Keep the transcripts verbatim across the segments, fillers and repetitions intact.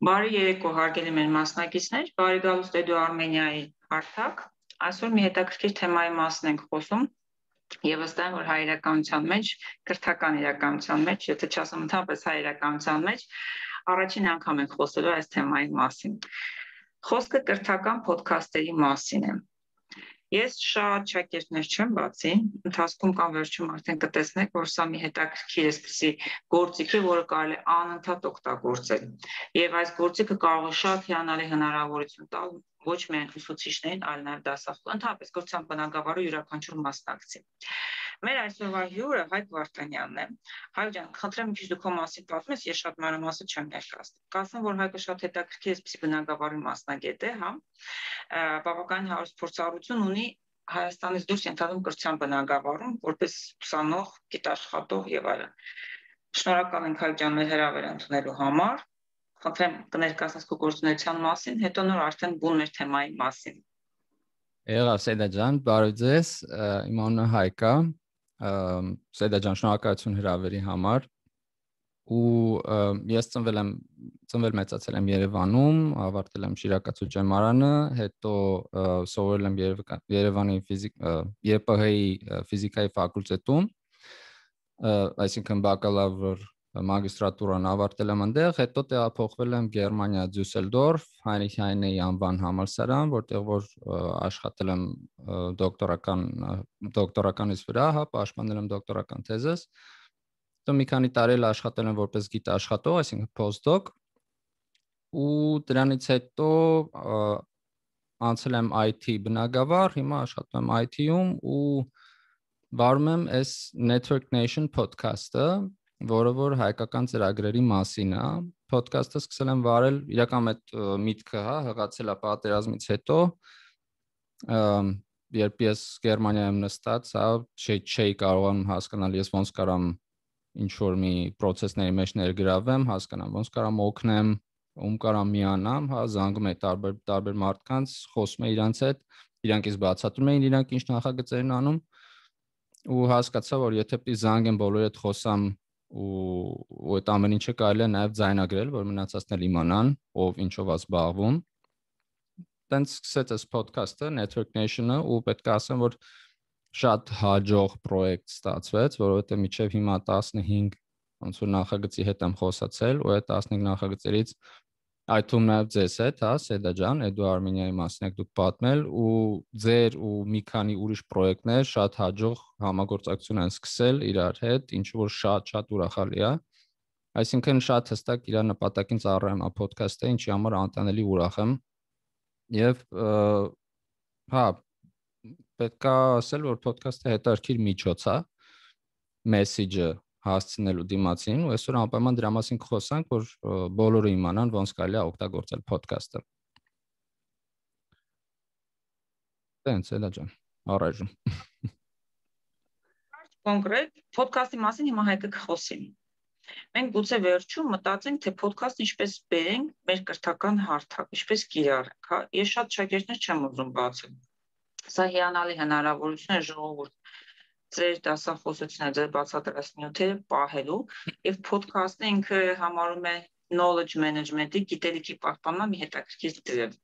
Բարի երեկո, հարգելի մեր մասնակիցներ, բարի գալուստ Էդու Արմենիայի հարթակ։ Այսօր մի հետաքրքիր թեմայի մասին ենք խոսում եւ վստահ եմ, որ հայ իրականության մեջ, կրթական իրականության մեջ, եթե չասեմ ընդհանրապես հայ իրականության մեջ, առաջին անգամ ենք խոսելու այս թեմայի մասին։ Խոսքը կրթական ոդքասթերի մասին է։ Ես շատ շակերտներ չեմ բացի, ընթացքում կամ վերջում արդեն կտեսնեք, որ սա մի հետաքրքիր էսպիսի գործիք է, որը կարելի է անընդհատ օգտագործել։ Եվ այս գործիքը կարող է շատ հիանալի հնարավորություն տալ ոչ միայն ուսուցիչներին, այլ նաև դասախոս, ընդհանրապես կրթության բնագավառի յուրաքանչյուր մասնակցի։ Մեր այսօրվա հյուրը Հայկ Վարդանյանն է։ Հայկ ջան, խնդրեմ մի քիչ դու քո մասին պատմես, ես շատ մանրամասն չեմ ներկայացնում։ Կասեմ, որ Հայկը շատ հետաքրքիր էսպիսի բնագավառի մասնագետ է, հա։ Բավականին հարուստ փորձառություն ունի Հայաստանից դուրս ենթադրում կրթության բնագավառում, որպես ուսանող, գիտաշխատող եւ այլն։ Շնորհակալ ենք Հայկ ջան մեր հրավերը ընդունելու համար։ Խնդրեմ կներկայացնես քո գործունեության մասին, հետո նոր արդեն բուն մեր թեմայի մասին։ Եղավ Սեդա ջան, բարև ձեզ, իմ անունը Հայկ է, Սեդա ջան, շնորհակալություն հրավերի համար։ Ու ես ծնվել եմ, ծնվել մեծացել եմ Երևանում, ավարտել եմ Շիրակացու ջեմարանը, հետո սովորել եմ Երևանի ԵՊՀ-ի ֆիզիկայի ֆակուլտետում, այսինքն բակալավր մագիստրատուրան ավարտել եմ այնտեղ, հետո տեղափոխվել եմ Գերմանիա Դյուսելդորֆ, Հայնրիխ Հայնեի անվան համալսարան, որտեղ որ աշխատել եմ դոկտորական դոկտորականից վրա, հա, պաշտպանել եմ դոկտորական թեզս։ Հետո մի քանի տարի աշխատել եմ որպես գիտաշխատող, այսինքն postdoc, ու դրանից հետո անցել եմ I T բնագավառ, հիմա աշխատում եմ I T-ում ու վարում եմ այս Network Nation podcast-ը, որը որ հայկական ծրագրերի մասին է։ Podcast-ը սկսել եմ վարել իրական այդ միտքը, հա, հղացել է պատերազմից հետո, երբ ես Գերմանիայում նստած, հա, չէի կարողանում հասկանալ ես ոնց կարամ ինչ որ մի process-ների մեջ ներգրավեմ, հասկանամ ոնց կարամ օգնեմ, ում կարամ միանամ, հա, զանգում էի տարբեր տարբեր մարդկանց, խոսում էի իրանց հետ, իրանք ինձ բացատրում էին իրանք ինչ նախագծեր են անում, ու հասկացա, որ եթե պիտի զանգեմ բոլորի հետ խոսամ ու այդ ամեն ինչը կարելի է նաև ձայնագրել, որ մնացածն էլ իմանան, ով ինչով է զբաղվում։ Տենց սկսեց այս podcast-ը, Network Nation-ը, ու պետք է ասեմ, որ շատ հաջող պրոյեկտ ստացվեց, որովհետև մինչև հիմա տասնհինգ ոնց որ նախագծի հետ եմ խոսացել, ու այդ տասնհինգ նախագծերից այդ թվում նաև ձեզ հետ, հա, Սեդա ջան, Էդու Արմենիայի մասին եք դուք պատմել, ու ձեր ու մի քանի ուրիշ պրոյեկտներ շատ հաջող համագործակցություն են սկսել իրար հետ, ինչը որ շատ-շատ ուրախալի է։ Այսինքն շատ հստակ իր նպատակին ծառայում է podcast-ը, ինչի համար անտանելի ուրախ եմ։ Եվ հա, պետք է ասել, որ podcast-ը հետաքրքիր միջոց է, message-ը հասցնելու դիմացին, ու այսօր անպայման դրա մասին կխոսանք, որ բոլորը իմանան ոնց կարելի է օգտագործել podcast-ը։ Տենց էլա ջան, առայժմ։ Կոնկրետ podcast-ի մասին հիմա Հայկը կխոսի։ Մենք գուցե վերջում մտածենք, թե podcast-ը ինչպես բերենք մեր կրթական հարթակ, ինչպես կիրառենք, հա։ Ես շատ շագերտներ չեմ ուզում բացել։ Սա հիանալի հնարավորություն է ժողովուրդ ձեր դասախոսությունները, ձեր բացատրած նյութերը պահելու, եւ podcast-ը ինքը համարում է knowledge management-ի, գիտելիքի պահպանման մի հետաքրքիր դրիվ։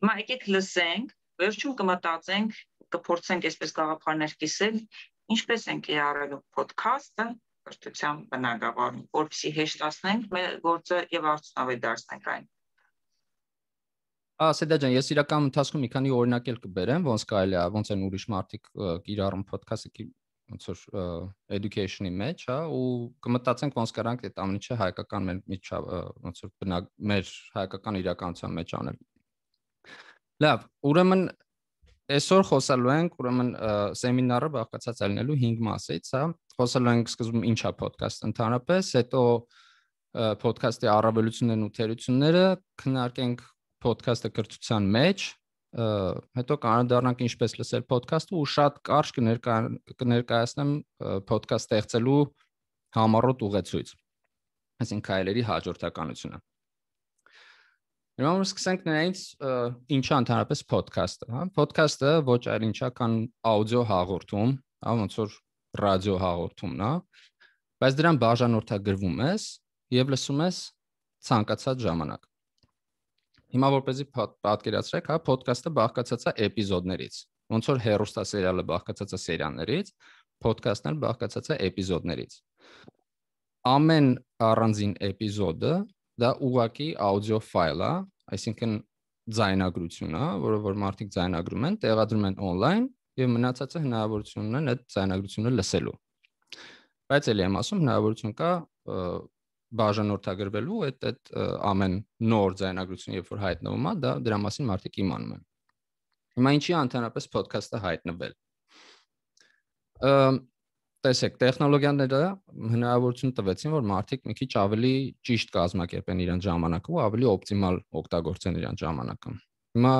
Հիմա եկեք լսենք, վերջում կմտածենք, կփորձենք այսպես գաղափարներ կիսել, ինչպես են կիրառելու podcast-ը կրթության բնագավառում, որպեսզի հեշտացնենք մեր գործը եւ արդյունավետ դարձնենք այն։ Սեդա ջան, ես իրական ընթացքում մի քանի օրինակ էլ կբերեմ, ոնց կարելի է, ոնց են ուրիշ մարդիկ կիրառում podcast-ը, ոնց որ education-ի մեջ, հա, ու կմտածենք ոնց կարանք այդ ամեն ինչը հայկական մեր միջավ, ոնց որ բնակ մեր հայկական իրականության մեջ անել։ Լավ, ուրեմն այսօր խոսալու ենք, ուրեմն սեմինարը բաղկացած է լինելու հինգ մասից, հա, խոսալու ենք սկզբում ինչ է podcast ընդհանրապես, հետո podcast-ի առավելություններն ու թերությունները, քննարկենք podcast-ը կրթության մեջ, հետո կանրադառնանք ինչպես լսել podcast-ը ու շատ կարճ կներկայացնեմ podcast ստեղծելու համառոտ ուղեցույց, այսինքն քայլերի հաջորդականությունը։ Հիմա մենք սկսենք նրանից ինչ է ընդհանրապես podcast-ը, հա։ Podcast-ը ոչ այլ ինչ է, քան աուդիո հաղորդում, հա, ոնց որ ռադիո հաղորդումն է, բայց դրան բաժանորդագրվում ես եւ լսում ես ցանկացած ժամանակ։ Հիմա որպեսզի պատկերացրեք, հա, podcast-ը բաղկացած է էպիզոդներից։ Ոնց որ հեռուստասերիալը բաղկացած է սերիալներից, podcast-ն էլ բաղկացած է էպիզոդներից։ Ամեն առանձին էպիզոդը դա ուղղակի աուդիո ֆայլ է, այսինքն ձայնագրություն է, որը որ մարդիկ ձայնագրում են, տեղադրում են on-line եւ մնացածը հնարավորություն ունեն այդ ձայնագրությունը լսելու։ Բայց էլի եմ ասում, հնարավորություն կա բաժանորդագրվելու այդ այդ ամեն նոր ձայնագրություն, երբ որ հայտնվում է, դա դրա մասին մարդիկ իմանում են։ Հիմա ինչի է ընդհանրապես podcast-ը հայտնվել։ Տեսեք, տեխնոլոգիաները հնարավորություն տվեցին, որ մարդիկ մի քիչ ավելի ճիշտ կազմակերպեն իրենց ժամանակը ու ավելի օպտիմալ օգտագործեն իրենց ժամանակը։ Հիմա,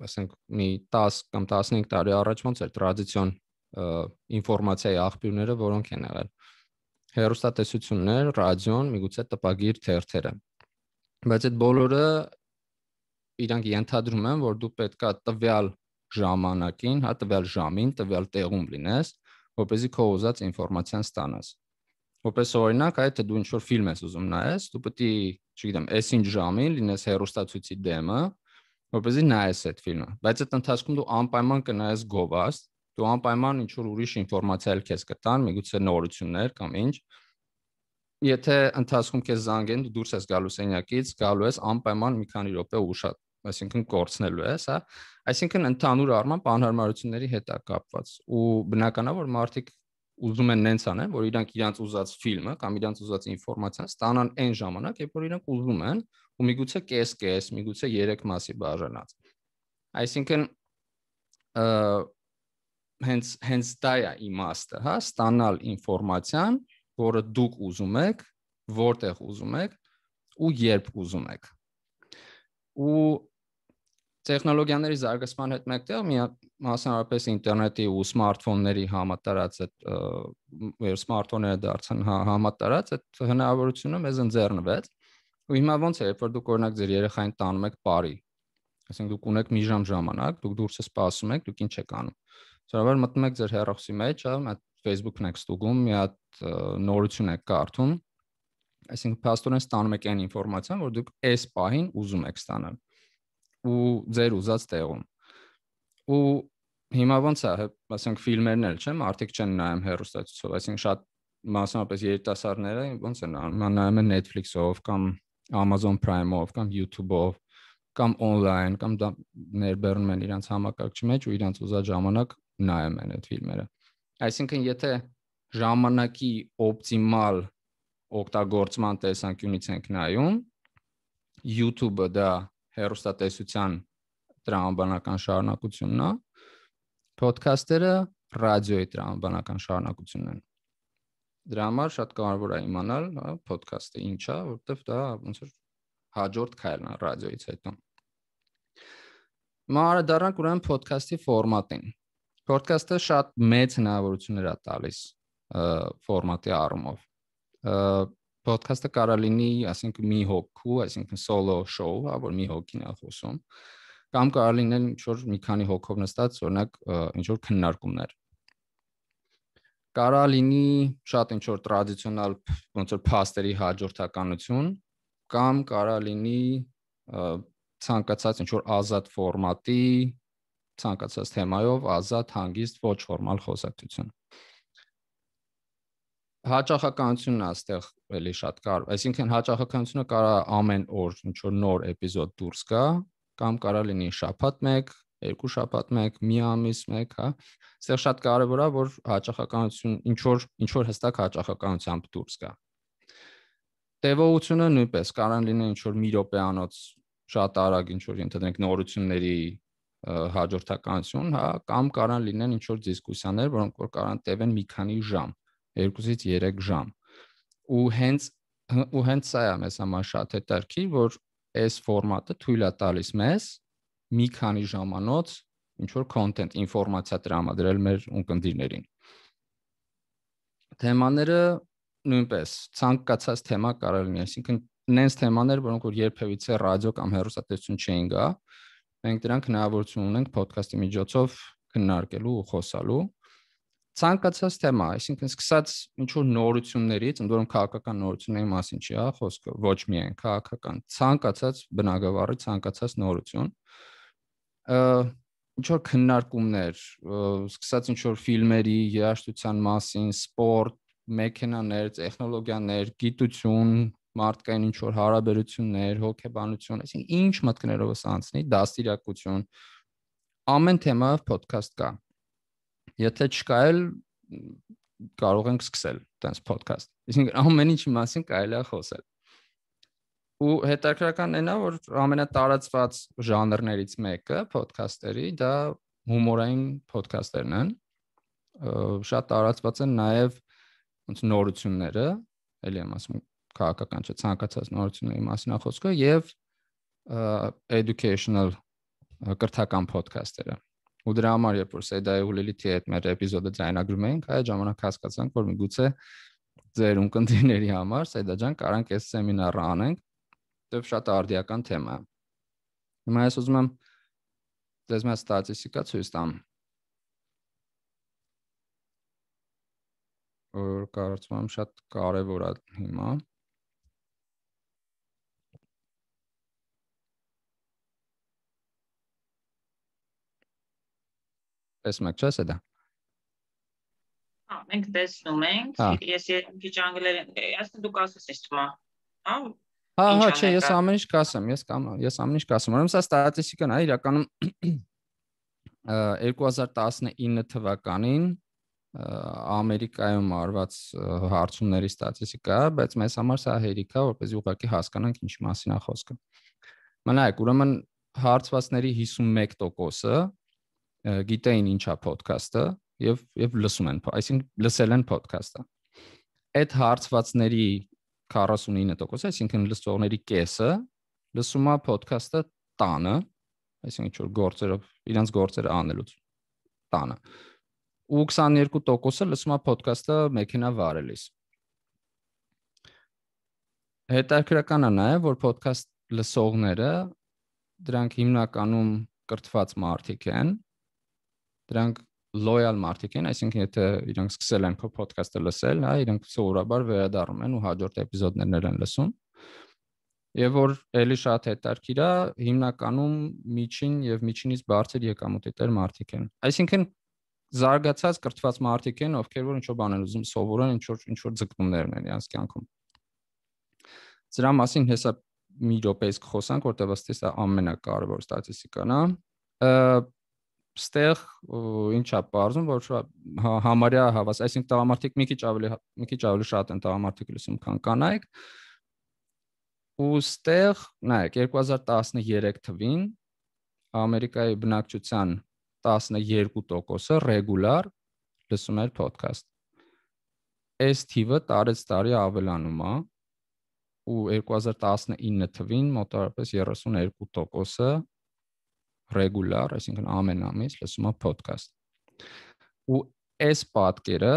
ասենք, մի տասը կամ տասնհինգ տարի առաջ ոնց էր տրադիցիոն ինֆորմացիայի աղբյուրները, որոնք են եղել։ Հեռուստատեսություններ, ռադիոն, միգուցե տպագիր թերթերը։ Բայց այդ բոլորը իրանք ենթադրում են, որ դու պետքա տվյալ ժամանակին, հա, տվյալ ժամին, տվյալ տեղում լինես, որպեսզի քո ուզած ինֆորմացիան ստանաս։ Որպես օրինակ, այդ դու ինչ-որ ֆիլմ ես ուզում նայես, դու պետք է, չգիտեմ, այսինչ ժամին լինես հեռուստացույցի դեմը, որպեսզի նայես այդ ֆիլմը։ Բայց այդ ընթացքում դու անպայման կնայես գովաստ, դու անպայման ինչ-որ ուրիշ ինֆորմացիա էլ քեզ կտան, միգուցե նորություններ կամ ինչ։ Եթե ընթացքում քեզ զանգեն, դու դուրս ես գալու սենյակից, գալու ես անպայման մի քանի րոպե ուշ, այսինքն կորցնելու ես, հա։ Այսինքն ընդհանուր առմամբ անհարմարությունների հետ է կապված։ Ու բնական է, որ մարդիկ ուզում են նենց անեն, որ իրանք իրանք ուզած ֆիլմը կամ իրանք ուզած ինֆորմացիան ստանան այն ժամանակ, երբ որ իրանք ուզում են, ու միգուցե կես-կես, միգուցե երեք մասի բաժանած։ Այսինքն հենց հենց դա է իմաստը, հա, ստանալ ինֆորմացիան, որը դուք ուզում եք, որտեղ ուզում եք ու երբ ուզում եք։ Ու տեխնոլոգիաների զարգացման հետ մեկտեղ մասնավորապես ինտերնետի ու սմարթֆոնների համատարած այդ սմարթֆոնները դարձան համատարած այդ հնարավորությունը մեզ ընձեռնվեց։ Ու հիմա ոնց է, երբ որ դուք օրինակ ձեր երեխային տանում եք բարի, այսինքն դուք ունեք մի ժամ ժամանակ, դուք դուրս սպասում եք, դուք ինչ եք անում։ Սովորաբար մտնում եք ձեր հեռախոսի մեջ, հա, Facebook-ն եք ստուգում, մի հատ նորություն եք կարդում, այսինքն փաստորեն ստանում եք այն ինֆորմացիան, որ դուք այս պահին ուզում եք ստանալ ու ձեր ուզած տեղում։ Ու հիմա ոնց է, ասենք ֆիլմերն էլ, չէ՞, մարդիկ չեն նայում հեռուստացույցով, այսինքն շատ մասնավորապես երիտասարդները ոնց են նայում են Netflix-ով կամ Amazon Prime-ով կամ YouTube-ով կամ on-line կամ դա ներբեռնում են իրենց համակարգչի մեջ ու իրենց ուզած ժամանակ նայում են այդ ֆիլմերը։ Այսինքն եթե ժամանակի օպտիմալ օգտագործման տեսանկյունից ենք նայում, YouTube-ը դա հեռուստատեսության տրամաբանական շարունակությունն է, podcast-երը ռադիոյի տրամաբանական շարունակությունն են։ Դրա համար շատ կարևոր է իմանալ, հա, podcast-ը ինչ է, որովհետև դա ոնց որ հաջորդ քայլն է ռադիոյից հետո։ Մանր դառնանք ուրեմն podcast-ի ֆորմատին։ Podcast-ը շատ մեծ հնարավորություններ է տալիս ֆորմատի առումով։ Podcast-ը կարող է լինի, ասենք, մի հոգու, այսինքն solo show, հա, որ մի հոգին է խոսում, կամ կարող է լինել ինչ-որ մի քանի հոգով նստած, օրինակ, ինչ-որ քննարկումներ։ Կարող է լինի շատ ինչ-որ տրադիցիոնալ, ոնց որ փաստերի հաջորդականություն, կամ կարող է լինի ցանկացած ինչ-որ ազատ ֆորմատի, ցանկացած թեմայով ազատ, հանգիստ, ոչ ֆորմալ խոսակցություն։ Հաճախականությունն է այստեղ էլի շատ կարևոր, այսինքն հաճախականությունը կարող է ամեն օր ինչ-որ նոր էպիզոդ դուրս գա, կամ կարող լինի շաբաթ մեկ, երկու շաբաթ մեկ, մի ամիս մեկ, հա։ Այստեղ շատ կարևոր է, որ հաճախականություն ինչ-որ ինչ-որ հստակ հաճախականությամբ դուրս գա։ Տևողությունը նույնպես կարող լինի ինչ-որ մի րոպեանոց շատ արագ ինչ-որ ընդդենք նորությունների հաջորդականություն, հա, կամ կարող լինեն ինչ-որ դիսկուսիաներ, որոնք որ կարող տևեն մի քանի ժամ, երկուսից երեք ժամ։ Ու հենց ու հենց սա է մեզ համար շատ հետաքրքիր, որ այս ֆորմատը թույլ է տալիս մեզ մի քանի ժամանոց ինչ-որ content, ինֆորմացիա տրամադրել մեր ունկնդիրներին։ Թեմաները նույնպես ցանկացած թեմա կարող լինի, այսինքն նենց թեմաներ, որոնք որ երբևիցե ռադիո կամ հեռուստատեսություն չէին գա, մենք դրանք հնարավորություն ունենք podcast-ի միջոցով քննարկելու ու խոսալու։ ցանկացած թեմա, այսինքն սկսած ինչ որ նորություններից, ընդ որում քաղաքական նորությունների մասին չի, հա, խոսքը, ոչ միայն քաղաքական, ցանկացած բնագավառի ցանկացած նորություն, ինչ որ քննարկումներ, սկսած ինչ որ ֆիլմերի, երաժշտության մասին, սպորտ, մեքենաներ, տեխնոլոգիաներ, գիտություն, մարդկային ինչ որ հարաբերություններ, հոգեբանություն, այսինքն ինչ մտքներովս անցնի, դաստիարակություն, ամեն թեմայով podcast կա։ Եթե չկա էլ կարող ենք սկսել տենց podcast։ Այսինքն ամեն ինչի մասին կարելի է խոսել։ Ու հետաքրքրական է նա, որ ամենատարածված ժանրներից մեկը podcast-երի դա հումորային podcast-երն են։ Շատ տարածված են նաև ոնց նորությունները, էլի եմ ասում քաղաքական չէ, ցանկացած նորությունների մասին է խոսքը եւ educational կրթական podcast-երը։ Ու դրա համար երբ որ Սեդայի ու Լիլիթի հետ մեր էպիզոդը ձայնագրում էինք, այդ ժամանակ հասկացանք, որ միգուցե ձեր ունկնդիրների համար Սեդա ջան կարանք այս սեմինարը անենք, դեպ շատ արդիական թեմա է։ Հիմա ես ուզում եմ դες մեծ ստատիստիկա ցույց տամ։ Որ կարծում եմ շատ կարևոր է հիմա։ Տեսնում եք, չէ՞ Սեդա։ Հա, մենք տեսնում ենք, ես քիչ անգլերեն, ասեն դուք ասես թվում է, հա։ Հա, հա, չէ, ես ամեն ինչ կասեմ, ես կամ ես ամեն ինչ կասեմ։ Ուրեմն սա ստատիստիկան է, իրականում երկու հազար տասնինը թվականին Ամերիկայում արված հարցումների ստատիստիկա, բայց մեզ համար սա հերիք է, որպեսզի ուղղակի հասկանանք ինչի մասին է խոսքը։ Մնայեք, ուրեմն հարցվածների հիսունմեկ տոկոսը գիտեին ինչա podcast-ը եւ եւ լսում են, այսինքն լսել են podcast-ը։ Այդ հարցվածների քառասունինը տոկոս, այսինքն լսողների կեսը լսում է podcast-ը տանը, այսինքն ինչ որ գործերով, իրենց գործերը անելուց տանը։ Ու քսաներկու տոկոսը լսում է podcast-ը մեքենա վարելիս։ Հետաքրքրական է նաև, որ podcast լսողները դրանք հիմնականում կրթված մարդիկ են, դրանք loyal մարդիկ են, այսինքն եթե իրենք սկսել են քո podcast-ը լսել, հա, իրենք սովորաբար վերադառնում են ու հաջորդ էպիզոդներն են լսում։ Եվ որ էլի շատ հետաքրքիր է, հիմնականում միջին եւ միջինից բարձր եկամուտի տեր մարդիկ են։ Այսինքն զարգացած կրթված մարդիկ են, ովքեր որ ինչ-որ բան են ուզում սովորեն, ինչ-որ ինչ-որ ձգտումներ ունեն իրենց կյանքում։ Դրա մասին հեսա մի րոպեից կխոսանք, որտեղ ըստ էս ամենակարևոր ստատիստիկան է։ Ստեղ ինչա բարձում, որ համարյա հավաս, այսինքն տղամարդիկ մի քիչ ավելի մի քիչ ավելի շատ են տղամարդիկ լսում, քան կանայք։ Ու ստեղ, նայեք, երկու հազար տասներեք թվին Ամերիկայի բնակչության տասներկու տոկոսը ռեգուլար լսում էր podcast։ Այս թիվը տարեց տարի ավելանում է, ու երկու հազար տասնինը թվին մոտավորապես երեսուներկու տոկոսը ռեգուլար, այսինքն ամեն ամիս լսում է podcast։ Ու այս պատկերը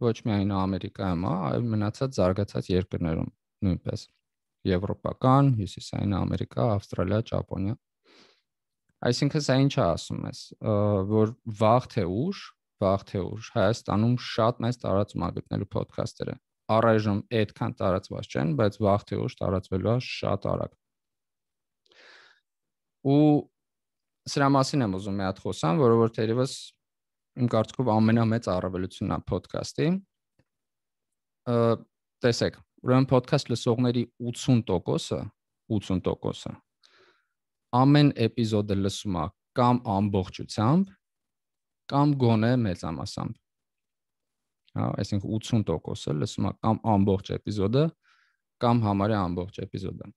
ոչ միայն Ամերիկայում է, այլ մնացած զարգացած երկրներում նույնպես։ Եվրոպական, Հյուսիսային Ամերիկա, Ավստրալիա, Ճապոնիա։ Այսինքն սա ինչ է ասում ես, որ վաղ թե ուշ, վաղ թե ուշ Հայաստանում շատ մեծ տարածում է գտնելու podcast-երը։ Առայժմ այդքան տարածված չեն, բայց վաղ թե ուշ տարածվելու է շատ արագ։ Ու սրա մասին եմ ուզում մի հատ խոսամ, որը որ թերևս իմ կարծիքով ամենամեծ առավելությունն է podcast-ի։ Տեսեք, ուրեմն podcast լսողների ութսուն տոկոսը, ութսուն տոկոսը ամեն էպիզոդը լսում է կամ ամբողջությամբ, կամ գոնե մեծամասամբ։ Հա, այսինքն ութսուն տոկոսը լսում է կամ ամբողջ էպիզոդը, կամ համարյա ամբողջ էպիզոդը։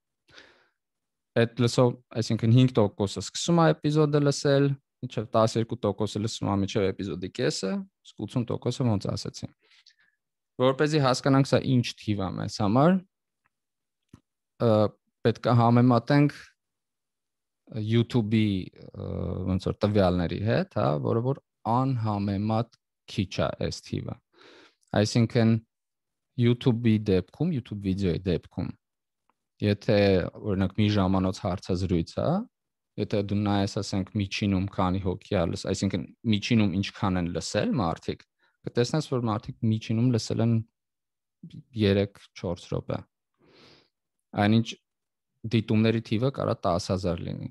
Այդ լսող, այսինքն հինգ տոկոսը սկսում է էպիզոդը լսել, մինչև տասներկու տոկոսը լսում է մինչև էպիզոդի կեսը, իսկ ութսուն տոկոսը ոնց ասեցի։ Որպեսզի հասկանանք սա ինչ թիվ է մեզ համար, պետք է համեմատենք YouTube-ի ոնց որ տվյալների հետ, հա, որը որ անհամեմատ քիչ է այս թիվը։ Այսինքն YouTube-ի դեպքում, YouTube վիդեոյի դեպքում, եթե օրինակ մի ժամանոց հարցազրույց է, եթե դու նայես, ասենք, միջինում քանի հոգի է լսել, այսինքն միջինում ինչքան են լսել մարդիկ, կտեսնես, որ մարդիկ միջինում լսել են երեք-չորս րոպե։ Այնինչ դիտումների թիվը կարա տասը հազար լինի։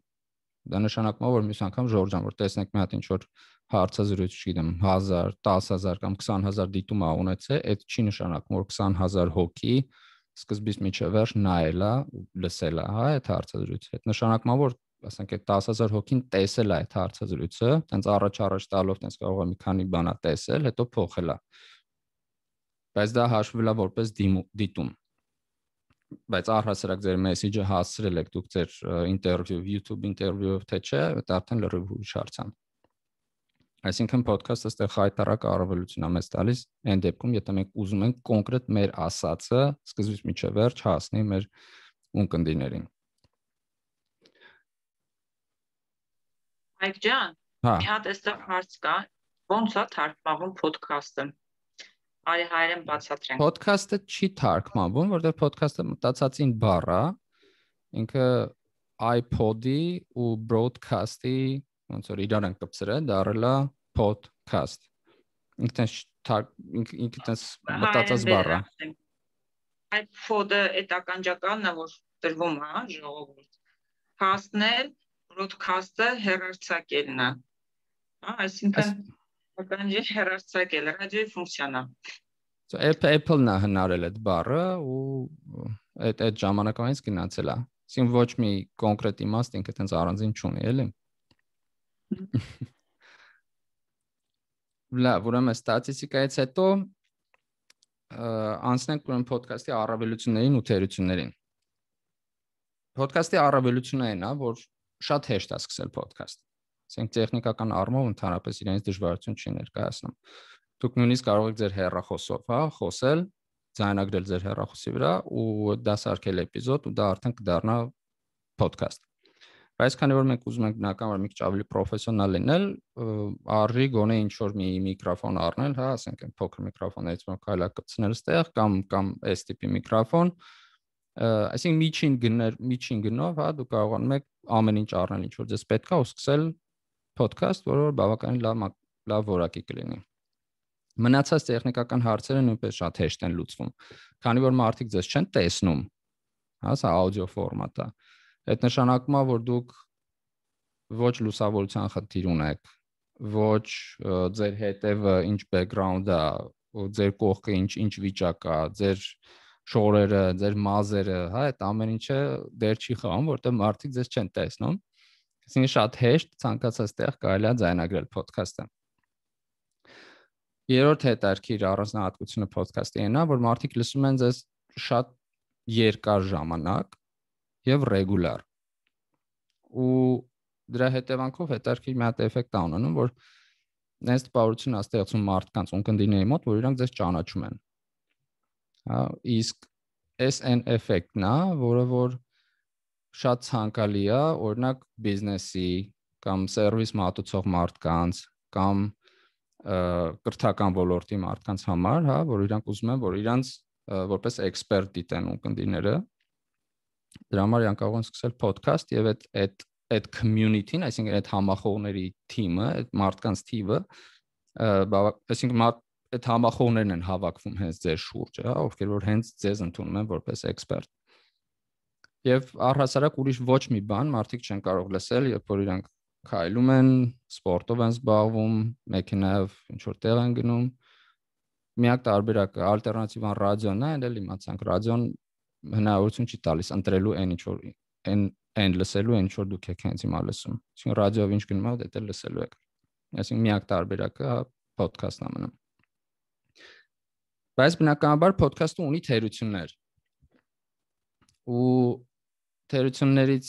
Դա նշանակում է, որ մյուս անգամ Ժորժան, որ տեսնեք մի հատ ինչ որ հարցազրույց, չգիտեմ, հազար, տասը հազար կամ քսան հազար դիտում ա ունեցել, այդ չի նշանակում, որ քսան հազար հոգի սկզբից մինչև վերջ նայել է ու լսել է, հա, այդ հարցազրույցը։ Այդ նշանակում է, որ ասենք այդ տասը հազար հոգին տեսել է այդ հարցազրույցը, տենց առաջ-առաջ տալով տենց կարող է մի քանի բանա տեսել, հետո փոխել է։ Բայց դա հաշվվել է որպես դիտում։ Բայց առհասարակ ձեր մեսեջը հասցրել եք դուք ձեր ինտերվյու, YouTube ինտերվյուով թե չէ, դա արդեն լրիվ ուրիշ հարց է։ Այսինքն podcast-ը ստեղ խայտարակ առավելություն է մեզ տալիս այն դեպքում, եթե մենք ուզում ենք կոնկրետ մեր ասածը սկզբից մինչև վերջ հասնի մեր ունկնդիրներին։ Այկ ջան, մի հատ այստեղ հարց կա, ո՞նց է թարգմանվում podcast-ը։ Արի հայերեն բացատրենք։ Podcast-ը չի թարգմանվում, որտեղ podcast-ը մտածածին բառ է, ինքը iPod-ի ու broadcast-ի ոնց որ իրար են կպցրել, դառել է podcast։ Ինքը ինքը տես մտածած բառ է։ iPod-ը այդ ականջակալն է, որ դրվում է, ժողովուրդ։ Cast-ն, broadcast-ը հեռարձակելն է։ Հա, այսինքն ականջի հեռարձակել, ռադիոյի ֆունկցիան է։ Apple-ն է հնարել այդ բառը ու այդ այդ ժամանակվանից գնացել է։ Այսինքն ոչ մի կոնկրետ իմաստ ինքը տենց առանձին չունի, էլի։ Լավ, ուրեմն ստատիստիկայից հետո անցնենք ուրեմն podcast-ի առավելություններին ու թերություններին։ Podcast-ի առավելությունը այն է, որ շատ հեշտ է սկսել podcast։ Ասենք տեխնիկական առումով ընդհանրապես իրենից դժվարություն չի ներկայացնում։ Դուք նույնիսկ կարող եք ձեր հեռախոսով, հա, խոսել, ձայնագրել ձեր հեռախոսի վրա ու դասարկել էպիզոդ ու դա արդեն կդառնա podcast։ Բայց քանի որ մենք ուզում ենք բնականաբար մի քիչ ավելի պրոֆեսիոնալ լինել, արժի գոնե ինչ որ մի միկրոֆոն առնել, հա, ասենք այն փոքր միկրոֆոններից որ կարելի է կպցնել ստեղ կամ կամ այս տիպի միկրոֆոն, այսինքն միջին գներ, միջին գնով, հա, դուք կարողանում եք ամեն ինչ առնել, ինչ որ ձեզ պետք է ու սկսել podcast, որը բավականին լավ լավ որակի կլինի։ Մնացած տեխնիկական հարցերը նույնպես շատ հեշտ են լուծվում, քանի որ մարդիկ ձեզ չեն տեսնում, հա, սա աուդիո ֆորմատ է։ Այդ նշանակում է, որ դուք ոչ լուսավորության խնդիր ունեք, ոչ ձեր հետևը ինչ բեքգրաունդ է, ու ձեր կողքը ինչ ինչ վիճակ է, ձեր շորերը, ձեր մազերը, հա, այդ ամեն ինչը դեր չի խաղում, որտեղ մարդիկ ձեզ չեն տեսնում։ Այսինքն շատ հեշտ ցանկացած տեղ կարելի է ձայնագրել podcast-ը։ Երրորդ հետաքրքիր առանձնահատկությունը podcast-ի այն է, որ մարդիկ լսում են ձեզ շատ երկար ժամանակ եւ ռեգուլար։ Ու դրա հետևանքով հետաքրքիր մի հատ էֆեկտ է ունենում, որ նենց տպավորություն է ստեղծում մարդկանց ունկնդիրների մոտ, որ իրանք ձեզ ճանաչում են։ Հա, իսկ էս այն էֆեկտն է, որը որ շատ ցանկալի է, օրինակ բիզնեսի կամ սերվիս մատուցող մարդկանց կամ կրթական ոլորտի մարդկանց համար, հա, որ իրանք ուզում են, որ իրանք որպես էքսպերտ դիտեն ունկնդիրները, դրա համար իրանք կարող են սկսել podcast եւ այդ այդ այդ community-ն, այսինքն այդ համախոհների թիմը, այդ մարդկանց թիվը, այսինքն այդ համախոհներն են հավաքվում հենց ձեր շուրջը, հա, ովքեր որ հենց ձեզ ընդունում են որպես էքսպերտ։ Եվ առհասարակ ուրիշ ոչ մի բան մարդիկ չեն կարող լսել, երբ որ իրանք քայլում են, սպորտով են զբաղվում, մեքենայով ինչ որ տեղ են գնում։ Միակ տարբերակը ալտերնատիվան ռադիոն է, այլ իմացանք ռադիոն հնարավորություն չի տալիս ընտրելու այն ինչ որ այն այն լսելու այն ինչ որ դուք եք հենց հիմա լսում։ Այսինքն ռադիոով ինչ գնում եք, դա լսելու եք։ Այսինքն միակ տարբերակը podcast-ն է մնում։ Բայց բնականաբար podcast-ը ունի թերություններ։ Ու թերություններից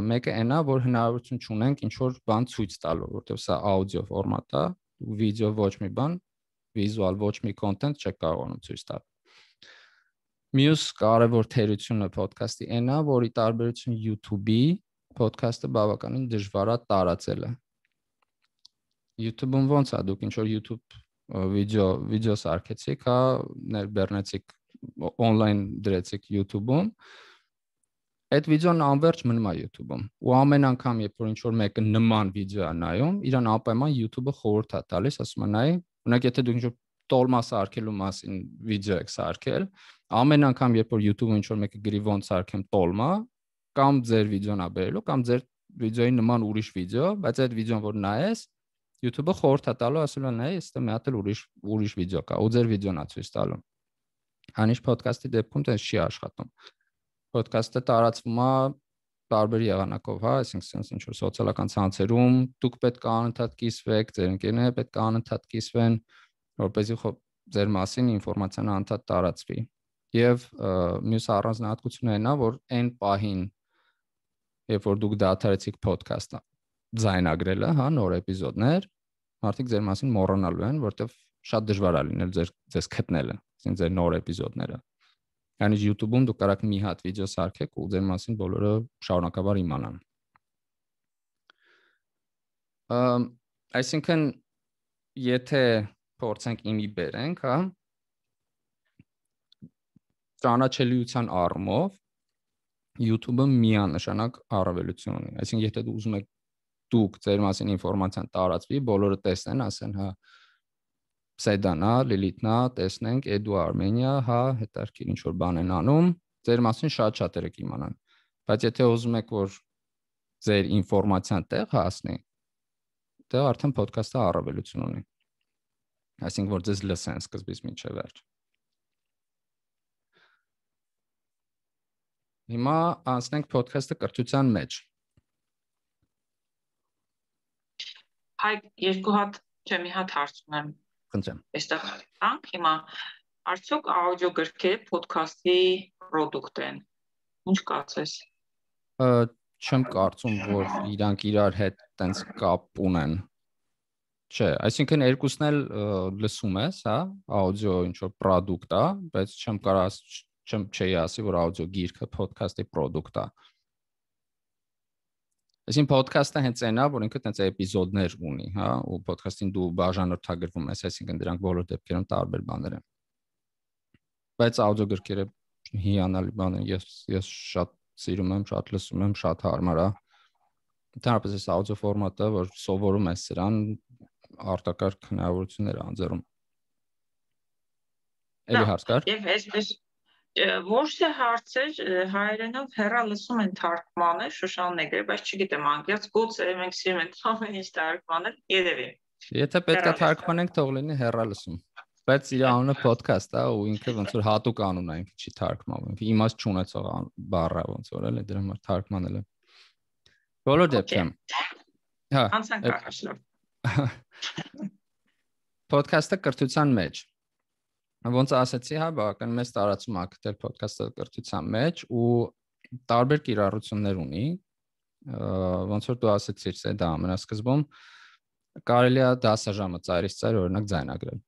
մեկը այն է, որ հնարավորություն չունենք ինչ որ բան ցույց տալու, որտեղ սա աուդիո ֆորմատ է, վիդեո ոչ մի բան, վիզուալ ոչ մի կոնտենտ չեք կարողանում ցույց տալ։ Մյուս կարևոր թերությունը podcast-ի այն է, որի տարբերություն YouTube-ի podcast-ը բավականին դժվար է տարածելը։ YouTube-ում ոնց է, դուք ինչ որ YouTube վիդեո վիդեո սարքեցիք, հա, ներբեռնեցիք on-line դրեցիք YouTube-ում, այդ վիդեոն անverջ մնում է YouTube-ում։ Ու ամեն անգամ, երբ որ ինչ որ մեկը նման վիդեո է նայում, իրան անպայման YouTube-ը խորհուրդ է տալիս, ասում է նայ Օրինակ, եթե դուք ինչ-որ տոլմա սարքելու մասին վիդեո եք սարքել, ամեն անգամ երբ որ YouTube-ը ինչ-որ մեկը գրի ոնց սարքեմ տոլմա, կամ ձեր վիդեոն է բերելու, կամ ձեր վիդեոյի նման ուրիշ վիդեո, բայց այդ վիդեոն որ նայես, YouTube-ը խորհուրդ է տալու, ասում է նայ, այստեղ մի հատ էլ ուրիշ ուրիշ վիդեո կա, ու ձեր վիդեոն է ցույց տալու։ Հանիշ podcast-ի դեպքում դա չի աշխատում։ Podcast-ը տարածվում է տարբեր եղանակով, հա, այսինքն ինչ որ սոցիալական ցանցերում դուք պետք է անընդհատ կիսվեք, ձեր ընկերները պետք է անընդհատ կիսվեն, որպեսզի ձեր մասին ինֆորմացիան անընդհատ տարածվի։ Եվ մյուս առանձնահատկությունն այն է, որ այն պահին, երբ որ դուք դադարեցիք podcast-ը ձայնագրելը, հա, նոր էպիզոդներ, մարդիկ ձեր մասին մոռանալու են, որտեվ շատ դժվար է լինել ձեր ձեզ գտնելը, այսինքն ձեր նոր էպիզոդները։ Այնինչ YouTube-ում դուք կարաք մի հատ վիդեո սարքեք ու ձեր մասին բոլորը շարունակաբար իմանան։ Ամ այսինքն եթե փորձենք իմի բերենք, հա, ճանաչելիության առումով YouTube-ը միանշանակ առավելություն ունի։ Այսինքն եթե դու ուզում եք դուք ձեր մասին ինֆորմացիան տարածվի, բոլորը տեսնեն, ասեն, հա, Սեդանա, Լիլիթնա, տեսնենք, Էդու Արմենիա, հա, հետարքիր ինչ որ բան են անում, ձեր մասին շատ-շատերը կիմանան։ Բայց եթե ուզում եք, որ ձեր ինֆորմացիան տեղ հասնի, դա արդեն podcast-ը առավելություն ունի։ Այսինքն որ ձեզ լսեն սկզբից մինչև վերջ։ Հիմա անցնենք podcast-ը կրթության մեջ։ Հայ, երկու հատ, չէ, մի հատ հարց ունեմ։ Խնդրեմ։ Այստեղ տանք հիմա արդյոք աուդիո գրքերը podcast-ի product են։ Ինչ կարծես։ Չեմ կարծում, որ իրանք իրար հետ տենց կապ ունեն։ Չէ, այսինքն երկուսն էլ լսում ես, հա, աուդիո ինչ որ product է, բայց չեմ կարող չեմ չի ասի, որ աուդիո գիրքը podcast-ի product է։ Այսինքն podcast-ը հենց այնա, որ ինքը տենց էպիզոդներ ունի, հա, ու podcast-ին դու բաժանորդագրվում ես, այսինքն դրանք բոլոր դեպքերում տարբեր բաներ են։ Բայց աուդիո գրքերը հիանալի բան են, ես ես շատ սիրում եմ, շատ լսում եմ, շատ հարմար է։ Ընդհանրապես այս աուդիո ֆորմատը, որ սովորում ես սրան, արտակարգ հնարավորություններ է անձեռում։ Էլի հարց կար։ Եվ այսպես ոչ թե հարցեր հայերենով հեռալսում են թարգմանել Շուշանները, բայց չգիտեմ, անկեղծ գուցե մենք սիրում ենք ամեն ինչ թարգմանել, երևի։ Եթե պետք է թարգմանենք, թող լինի հեռալսում։ Բայց իր անունը podcast է ու ինքը ոնց որ հատուկ անուն է, ինքը չի թարգմանվում։ Իմաստ չունեցող բառ է ոնց որ էլ դրա համար թարգմանել է։ Բոլոր դեպքերում։ Հա, անցանք առաջ։ Podcast-ը կրթության մեջ։ Ոնց ասացի, հա, բավական մեծ տարածում է գտել podcast-ը կրթության մեջ ու տարբեր կիրառություններ ունի։ Ոնց որ դու ասացիր, դա ամենասկզբում կարելի է դասաժամը ծայրից ծայր օրինակ ձայնագրել։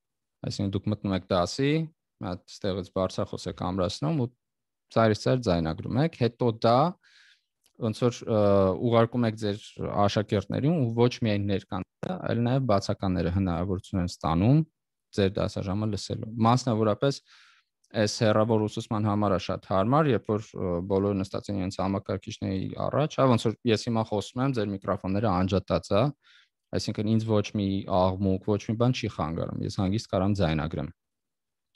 Այսինքն դուք մտնում եք դասի, հատ ստեղից բարձրախոս եք ամրացնում ու ծայրից ծայր ձայնագրում եք, հետո դա ոնց որ ուղարկում եք ձեր աշակերտներին ու ոչ միայն ներկաները, այլ նաև բացականները հնարավորություն են ստանում ձեր դասաժամը լսելու։ Մասնավորապես այս հեռավոր ուսուցման համար է շատ հարմար, երբ որ բոլորը նստած են իրենց համակարգիչների առաջ, հա, ոնց որ ես հիմա խոսում եմ, ձեր միկրոֆոնները անջատած է, այսինքն ինձ ոչ մի աղմուկ, ոչ մի բան չի խանգարում, ես հանգիստ կարամ ձայնագրեմ։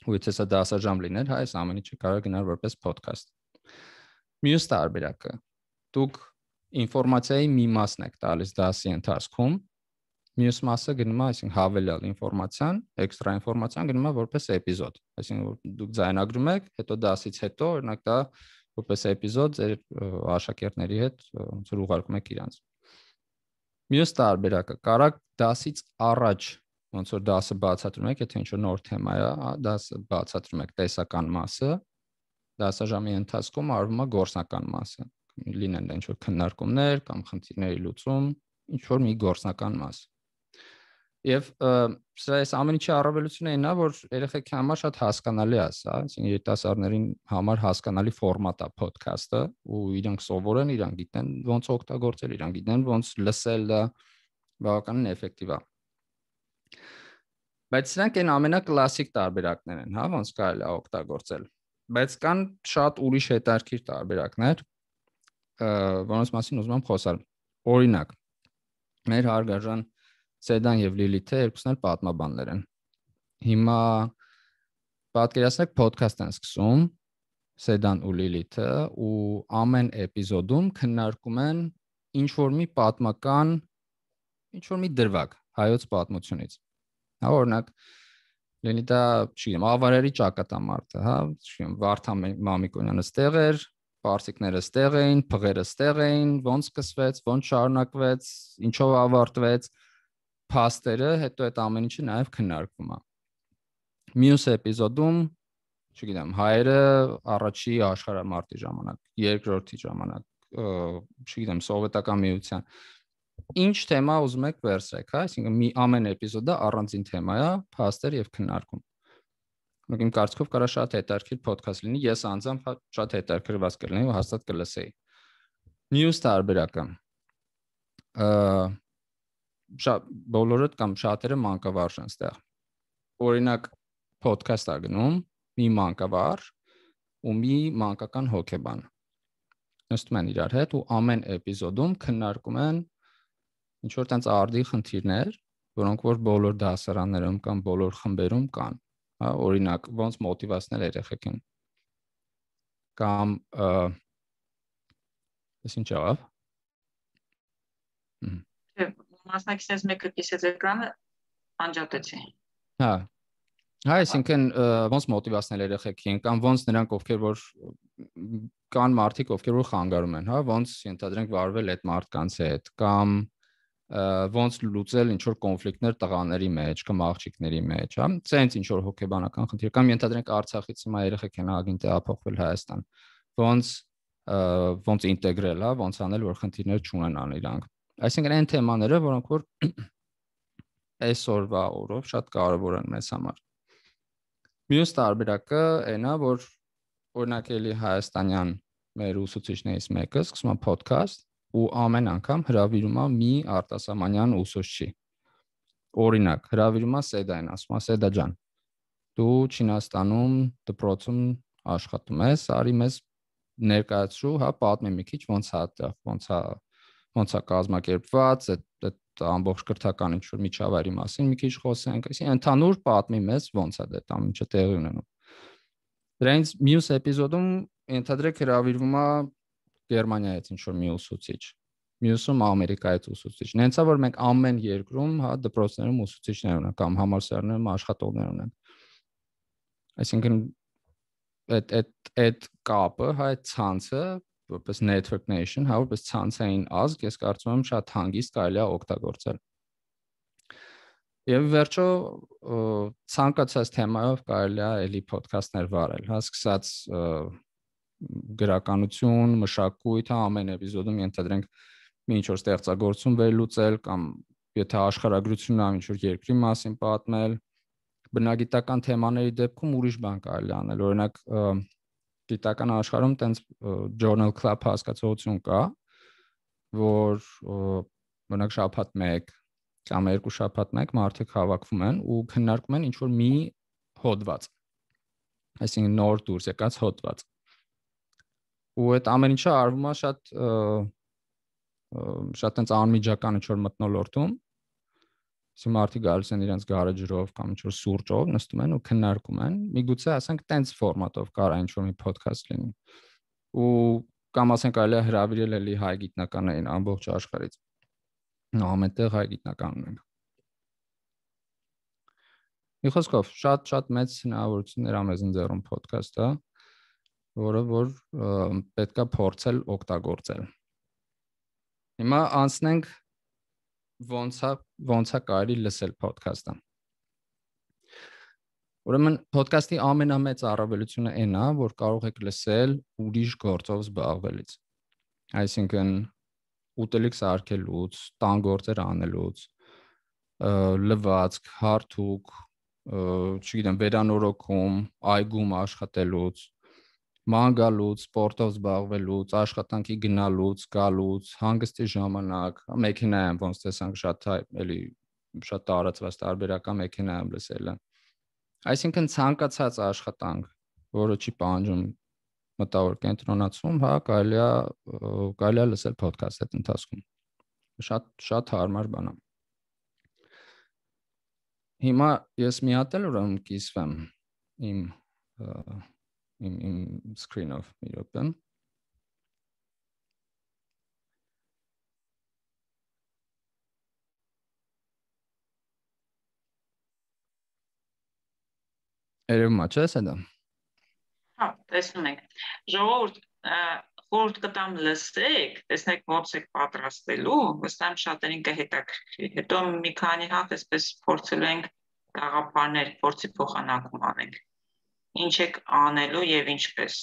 Ու եթե սա դասաժամ լիներ, հա, այս ամեն ինչը կարող գնար որպես podcast։ Մյուս տարբերակը, դուք ինֆորմացիայի մի մասն եք տալիս դասի ընթացքում, մյուս մասը գնում է, այսինքն հավելյալ ինֆորմացիան, էքստրա ինֆորմացիան գնում է որպես էպիզոդ, այսինքն դուք ձայնագրում եք, հետո դասից հետո օրինակ դա որպես էպիզոդ ձեր աշակերտների հետ ոնց որ ուղարկում եք իրանց։ Մյուս տարբերակը, կարաք դասից առաջ ոնց որ դասը բացատրում եք, եթե ինչ-որ նոր թեմա է, դասը բացատրում եք տեսական մասը, դասաժամի ընթացքում արվում է գործնական մասը, լինեն ինչ-որ քննարկումներ կամ խնդիրների լուծում, ինչ-որ մի գործնական մաս։ Եվ սա այս ամեն ինչի առավելությունը այն է, որ երեխեքի համար շատ հասկանալի է, հա, այսինքն երիտասարդներին համար հասկանալի ֆորմատ է podcast-ը, ու իրանք սովորեն, իրանք գիտեն ոնց օգտագործել, իրանք գիտեն ոնց լսել, դա բավականին էֆեկտիվ է։ Բայց սրանք այն ամենակլասիկ տարբերակներն են, հա, ոնց կարելի է օգտագործել։ Բայց կան շատ ուրիշ հետաքրքիր տարբերակներ, որոնց մասին ուզում եմ խոսալ։ Օրինակ, մեր հարգարժան Սեդան եւ Լիլիթը երկուսն էլ պատմաբաններ են։ Հիմա պատկերացնեք podcast են սկսում Սեդան ու Լիլիթը ու ամեն էպիզոդում քննարկում են ինչ որ մի պատմական, ինչ որ մի դրվագ հայոց պատմությունից։ Հա, օրինակ Լիլիթը, չգիտեմ, ավարերի ճակատամարտը, հա, չգիտեմ, Վարդան Մամիկոնյանը ստեղ էր, պարսիկները ստեղ էին, փղերը ստեղ էին, ոնց սկսվեց, ոնց շարունակվեց, ինչով ավարտվեց, փաստերը, հետո այդ ամեն ինչը նաև քննարկվում է։ Մյուս էպիզոդում չգիտեմ, հայերը առաջի աշխարհամարտի ժամանակ, երկրորդի ժամանակ, չգիտեմ, սովետական միության։ Ինչ թեմա ուզում եք վերցրեք, հա, այսինքն մի ամեն էպիզոդը առանձին թեմա է, փաստեր եւ քննարկում։ Իմ կարծիքով կարա շատ հետաքրքիր podcast լինի, ես անձամբ շատ հետաքրքրված կլինեի ու հաստատ կլսեի։ Մյուս տարբերակը շատ բոլորը կամ շատերը մանկավարժ են ստեղ։ Օրինակ podcast-ա գնում մի մանկավարժ ու մի մանկական հոգեբան նստում են իրար հետ ու ամեն էպիզոդում քննարկում են ինչ որ տենց արդի խնդիրներ, որոնք որ բոլոր դասարաններում կամ բոլոր խմբերում կան, հա, օրինակ ոնց մոտիվացնել երեխեքին կամ ես ինչ աղավ մասնակիցներից մեկը կիսեց էկրանը, անջատեցի։ Հա, հա, այսինքն ոնց մոտիվացնել երեխեքին կամ ոնց նրանք ովքեր որ կան մարդիկ ովքեր որ խանգարում են, հա, ոնց ենթադրենք վարվել այդ մարդկանց հետ կամ ոնց լուծել ինչ որ կոնֆլիկտներ տղաների մեջ կամ աղջիկների մեջ, հա, ցենց ինչ որ հոգեբանական խնդիր կամ ենթադրենք Արցախից հիմա երեխեք են ագին տեղափոխվել Հայաստան, ոնց ոնց ինտեգրել, հա, ոնց անել որ խնդիրներ չունենան իրանք։ Այսինքն այն թեմաները, որոնք որ այսօրվա օրով շատ կարևոր են մեզ համար։ Մյուս տարբերակը այն է, որ օրինակ էլի հայաստանյան մեր ուսուցիչներից մեկը սկսում է podcast ու ամեն անգամ հրավիրում է մի արտասահմանյան ուսուցչի։ Օրինակ, հրավիրում է Սեդային, ասում է Սեդա ջան, դու Չինաստանում դպրոցում աշխատում ես, արի մեզ ներկայացրու, հա, պատմի մի քիչ ոնց է այդտեղ, ոնց է ոնց է կազմակերպված, այդ ամբողջ կրթական ինչ որ միջավայրի մասին մի քիչ խոսենք, այսինքն ընդհանուր պատմի մեզ ոնց է դա ամիջը տեղի ունենում։ Դրանից մյուս էպիզոդում ենթադրեք հրավիրվում է Գերմանիայից ինչ որ մի ուսուցիչ, մյուսում Ամերիկայից ուսուցիչ։ Նենց է որ մենք ամեն երկրում, հա, դպրոցներում ուսուցիչներ ունենք կամ համալսարաններում աշխատողներ ունենք։ Այսինքն այդ այդ այդ կապը, հա, այդ ցանցը որպես network nation, հա, որպես ցանցային ազգ, ես կարծում եմ շատ հանգիստ կարելի է օգտագործել։ Եվ վերջո ցանկացած թեմայով կարելի է էլի podcast-ներ վարել, հա, սկսած գրականություն, մշակույթ, հա, ամեն էպիզոդում ենթադրենք մի ինչ որ ստեղծագործություն վերլուծել կամ եթե աշխարհագրությունն է ինչ որ երկրի մասին պատմել, բնագիտական թեմաների դեպքում ուրիշ բան կարելի անել, օրինակ գիտական աշխարհում տենց journal club հասկացություն կա, որ օրինակ շաբաթ մեկ կամ երկու շաբաթ մեկ մարդիկ հավաքվում են ու քննարկում են ինչ որ մի հոդված, այսինքն նոր դուրս եկած հոդված։ Ու այդ ամեն ինչը արվում է շատ շատ տենց անմիջական ինչ որ մթնոլորտում, Իսկ մարդիկ գալիս են իրենց գարեջրով կամ ինչ-որ սուրճով նստում են ու քննարկում են, միգուցե ասենք տենց ֆորմատով կարա ինչ-որ մի podcast լինի։ Ու կամ ասենք այլ հրավիրել էլի հայ գիտնականներին ամբողջ աշխարհից։ Նո, ամենտեղ հայ գիտնական ունենք։ Մի խոսքով, շատ-շատ մեծ հնարավորություններ ա մեզ ընձեռում podcast-ը, որը որ պետքա փորձել օգտագործել։ Հիմա անցնենք ոնց է ոնց է կարելի լսել podcast-ը։ Ուրեմն podcast-ի ամենամեծ առավելությունը այն է, որ կարող եք լսել ուրիշ գործով զբաղվելից։ Այսինքն ուտելիք սարքելուց, տան գործեր անելուց, լվացք, հարթուկ, չգիտեմ, վերանորոգում, այգում աշխատելուց, ման գալուց, սպորտով զբաղվելուց, աշխատանքի գնալուց, գալուց, հանգստի ժամանակ, մեքենայում ոնց տեսանք շատ էլի շատ տարածված տարբերական մեքենայում լսելը։ Այսինքն ցանկացած աշխատանք, որը չի պահանջում մտավոր կենտրոնացում, հա, կարելի է կարելի է լսել podcast այդ ընթացքում։ Շատ շատ հարմար բան է։ Հիմա ես մի հատ էլ ուրեմն կիսվեմ իմ իմ իմ screen-ով մի րոպե։ Երևում է, չէ՞ սա։ Հա, տեսնում ենք։ Ժողովուրդ, խորհուրդ կտամ լսեք, տեսնեք ոնց եք պատրաստելու, վստահ եմ շատերին կհետաքրքրի։ Հետո մի քանի հատ այսպես փորձելու ենք գաղափարներ, փորձի փոխանակում անենք։ Ինչ եք անելու եւ ինչպես։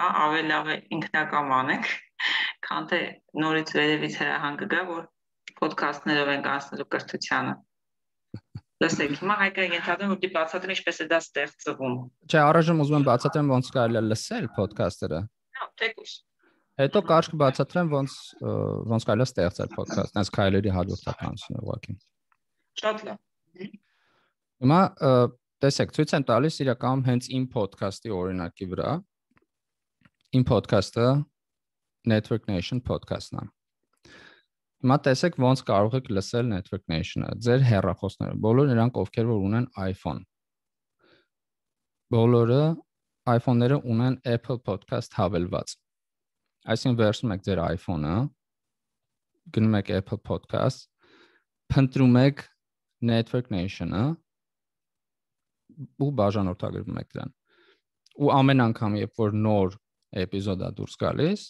Հա, ավելի լավ է ինքնակամ անենք, քան թե նորից վերևից հրահանգ կգա, որ ոդքասթներով ենք անցնելու կրթությանը։ Լսեք, հիմա Հայկը ենթադրում որ դի բացատրեմ ինչպես է դա ստեղծվում։ Չէ, առայժմ ուզում եմ բացատրեմ ոնց կարելի է լսել ոդքասթերը։ Հա, թեկուզ։ Հետո կարճ կբացատրեմ ոնց ոնց կարելի է ստեղծել ոդքասթ, այս քայլերի հաջորդականությունը ուղղակի։ Շատ լավ։ Հիմա տեսեք, ցույց եմ տալիս իրականում հենց իմ ոդքասթի օրինակի վրա։ Իմ ոդքասթը Network Nation podcast-ն է։ Հիմա տեսեք ոնց կարող եք լսել Network Nation-ը, ձեր հեռախոսները, բոլոր նրանք ովքեր որ ունեն iPhone։ Բոլորը iPhone-ները ունեն Apple Podcast հավելված։ Այսինքն վերցնում եք ձեր iPhone-ը, գնում եք Apple Podcast, փնտրում եք Network Nation-ը ու բաժանորդագրվում եք դրան։ Ու ամեն անգամ, երբ որ նոր էպիզոդ է դուրս գալիս,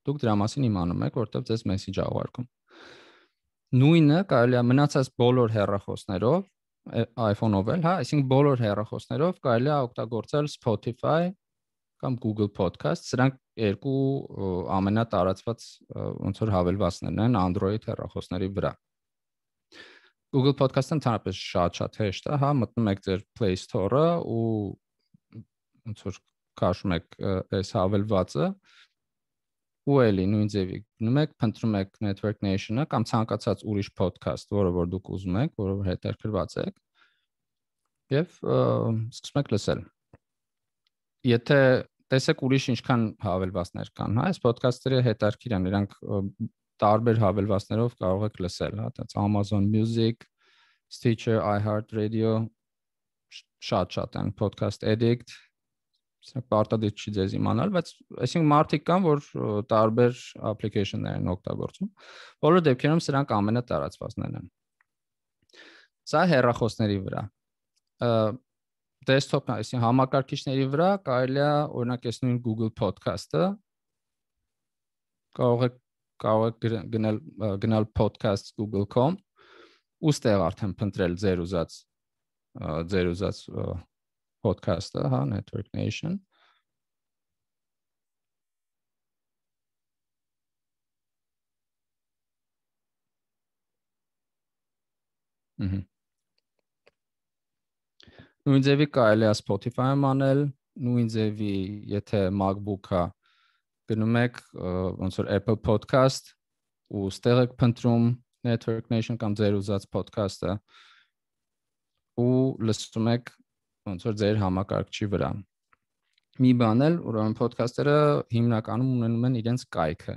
դուք դրա մասին իմանում եք, որտեղ ձեզ մեսեջ աղարկում։ Նույնը կարելի է մնացած բոլոր հեռախոսներով, iPhone-ով էլ, հա, այսինքն բոլոր հեռախոսներով կարելի է օգտագործել Spotify կամ Google Podcast, սրանք երկու ամենատարածված ոնց որ հավելվածներն են Android հեռախոսների վրա։ Google Podcast-ը ընդհանրապես շատ-շատ հեշտ է, հա, մտնում եք ձեր Play Store-ը ու ոնց որ քաշում եք այս հավելվածը ու էլի նույն ձևի գնում եք, փնտրում եք Network Nation-ը կամ ցանկացած ուրիշ podcast, որը որ դուք ուզում եք, որը որ հետաքրքրված եք, եւ սկսում եք լսել։ Եթե տեսեք ուրիշ ինչքան հավելվածներ կան, հա, այս podcast-երը հետաքրքիր են, նրանք տարբեր հավելվածներով կարող եք լսել, հա, այդպես Amazon Music, Stitcher, iHeartRadio, շատ-շատ են, Podcast Addict, սա պարտադիր չի ձեզ իմանալ, բայց այսինքն մարդիկ կան, որ տարբեր application-ներ են օգտագործում։ Բոլոր դեպքերում սրանք ամենատարածվածներն են։ Սա հեռախոսների վրա։ Desktop-ն, այսինքն համակարգիչների վրա կարելի է օրինակ այս նույն Google Podcast-ը կարող եք կարող եք գնել գնալ podcast google dot com ու ստեղ արդեն փնտրել ձեր ուզած ձեր ուզած podcast-ը, հա, Network Nation։ Ահա։ Նույն ձևի կարելի է Spotify-ում անել, նույն ձևի, եթե MacBook-ը գնում եք ոնց որ Apple Podcast ու ստեղ եք փնտրում Network Nation կամ ձեր ուզած podcast-ը ու լսում եք ոնց որ ձեր համակարգչի վրա։ Մի բան էլ, ուրեմն podcast-երը հիմնականում ունենում են իրենց կայքը։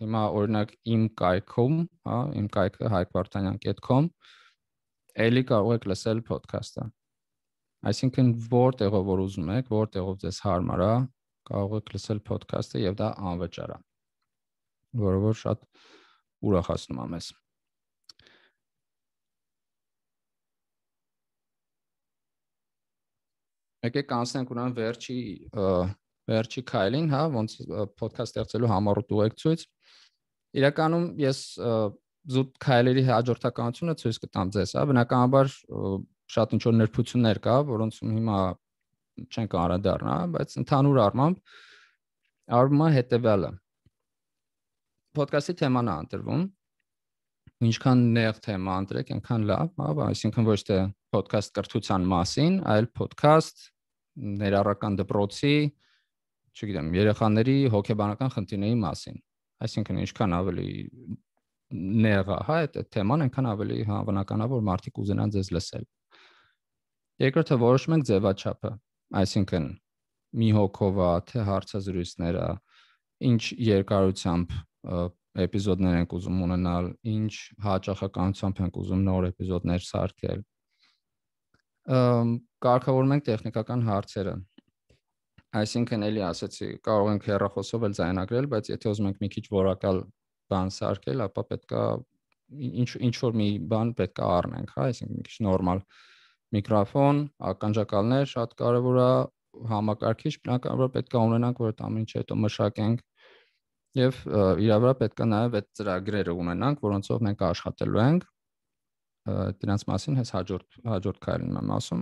Հիմա օրինակ իմ կայքում, հա, իմ կայքը հայկ վարդանյան dot com էլի կարող եք լսել podcast-ը։ Այսինքն որտեղով որ ուզում եք, որտեղով ձեզ հարմար է, կարող եք լսել podcast-ը եւ դա անվճար է։ Որը որ շատ ուրախացնում է մեզ։ Եկեք անցնենք ուրեմն վերջի վերջի քայլին, հա, ոնց podcast ստեղծելու համառոտ ուղեկցույց։ Իրականում ես զուտ քայլերի հաջորդականությունը ցույց կտամ ձեզ, հա, բնականաբար շատ ինչ որ նրբություններ կա, որոնցում հիմա չենք անդրադառնա, բայց ընդհանուր առմամբ արվում է հետեւյալը։ Podcast-ի թեման է ընտրվում։ Ինչքան նեղ թեմա ընտրեք, այնքան լավ, հա, այսինքն ոչ թե podcast կրթության մասին, այլ podcast ներառական դպրոցի, չգիտեմ, երեխաների հոգեբանական խնդիրների մասին։ Այսինքն ինչքան ավելի նեղ է, հա, այդ թեման, այնքան ավելի հավանական է, որ մարդիկ ուզենան ձեզ լսել։ Երկրորդը որոշում ենք ձևաչափը, այսինքն մի հոգով է, թե հարցազրույցները, ինչ երկարությամբ էպիզոդներ ենք ուզում ունենալ, ինչ հաճախականությամբ ենք ուզում նոր էպիզոդներ սարքել։ Կարգավորում ենք տեխնիկական հարցերը։ Այսինքն էլի ասացի, կարող ենք հեռախոսով էլ ձայնագրել, բայց եթե ուզում ենք մի քիչ որակալ բան սարքել, ապա պետքա ինչ ինչ որ մի բան պետքա առնենք, հա, այսինքն մի քիչ նորմալ միկրոֆոն, ականջակալներ, շատ կարևոր է, համակարգիչ, բնականաբար պետքա ունենանք, որ այդ ամեն ինչը հետո մշակենք եւ իրա վրա պետքա նաեւ այդ ծրագրերը ունենանք, որոնցով մենք աշխատելու ենք։ Դրանց մասին հենց հաջորդ հաջորդ քայլին եմ ասում։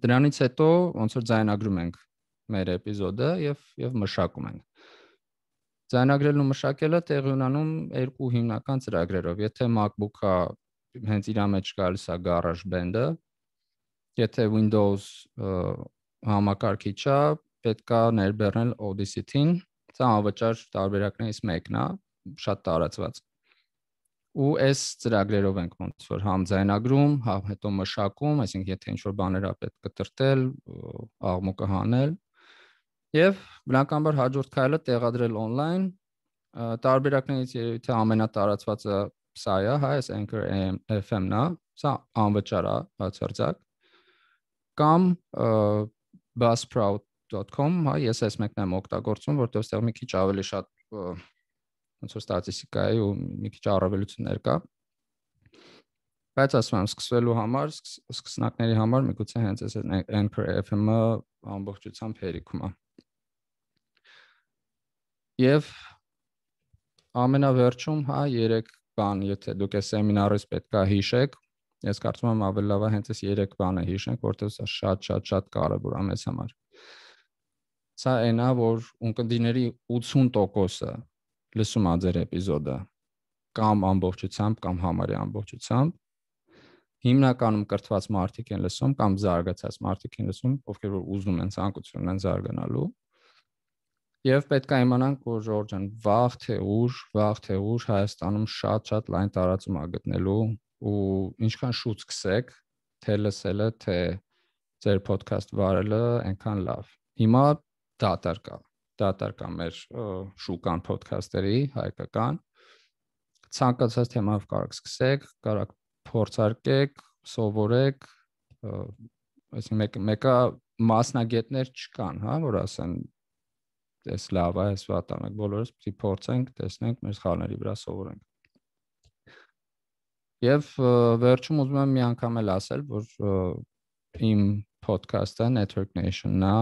Դրանից հետո ոնց որ ձայնագրում ենք մեր էպիզոդը եւ եւ մշակում ենք։ Ձայնագրելն ու մշակելը տեղի ունենում երկու հիմնական ծրագրերով։ Եթե MacBook-ը հենց իր մեջ գալիս է GarageBand-ը, եթե Windows համակարգիչը, պետքա ներբեռնել Audacity-ին, սա անվճար տարբերակներից մեկն է, շատ տարածված։ Ու այս ծրագրերով ենք ոնց որ համ ձայնագրում, համ հետո մշակում, այսինքն եթե ինչ-որ բաներ ա պետք կտրտել, աղմուկը հանել, եւ բնականաբար հաջորդ քայլը տեղադրել on-line, տարբերակներից եթե ամենատարածվածը սա է, հա, այս Anchor F M-ն է, սա անվճար է, բացարձակ, կամ buzzsprout dot com, հա, ես այս մեկն եմ օգտագործում, որտեղ այստեղ մի քիչ ավելի շատ ոնց որ ստատիստիկա է ու մի քիչ առավելություններ կա։ Բայց ասում եմ, սկսվելու համար, սկսնակների համար միգուցե հենց այս Anchor F M-ը ամբողջությամբ հերիքում է։ Եվ ամենավերջում, հա, երեք բան, եթե դուք այս սեմինարից պետքա հիշեք, ես կարծում եմ ավելի լավ է հենց այս երեք բանը հիշենք, որտեղ սա շատ-շատ-շատ կարևոր է մեզ համար։ Սա այն է, որ ունկնդիրների ութսուն տոկոսը լսում է ձեր էպիզոդը կամ ամբողջությամբ կամ համարյա ամբողջությամբ, հիմնականում կրթված մարդիկ են լսում կամ զարգացած մարդիկ են լսում, ովքեր որ ուզում են ցանկություն ունեն զարգանալու։ Եվ պետք է իմանանք, որ Ժորժան վաղ թե ուշ, վաղ թե ուշ Հայաստանում շատ-շատ լայն տարածում է գտնելու ու ինչքան շուտ սկսեք, թե լսելը, թե ձեր podcast վարելը, այնքան լավ։ Հիմա դատար կա, դատար կա մեր շուկան podcast-երի հայկական։ Ցանկացած թեմայով կարող սկսեք, կարող փորձարկեք, սովորեք, այսինքն մեկը մասնագետներ չկան, հա, որ ասեն այս լավ է, այս վատ է, մենք բոլորս պիտի փորձենք, տեսնենք, մեր սխալների վրա սովորենք։ Եվ վերջում ուզում եմ մի անգամ էլ ասել, որ իմ podcast-ը Network Nation-ն է,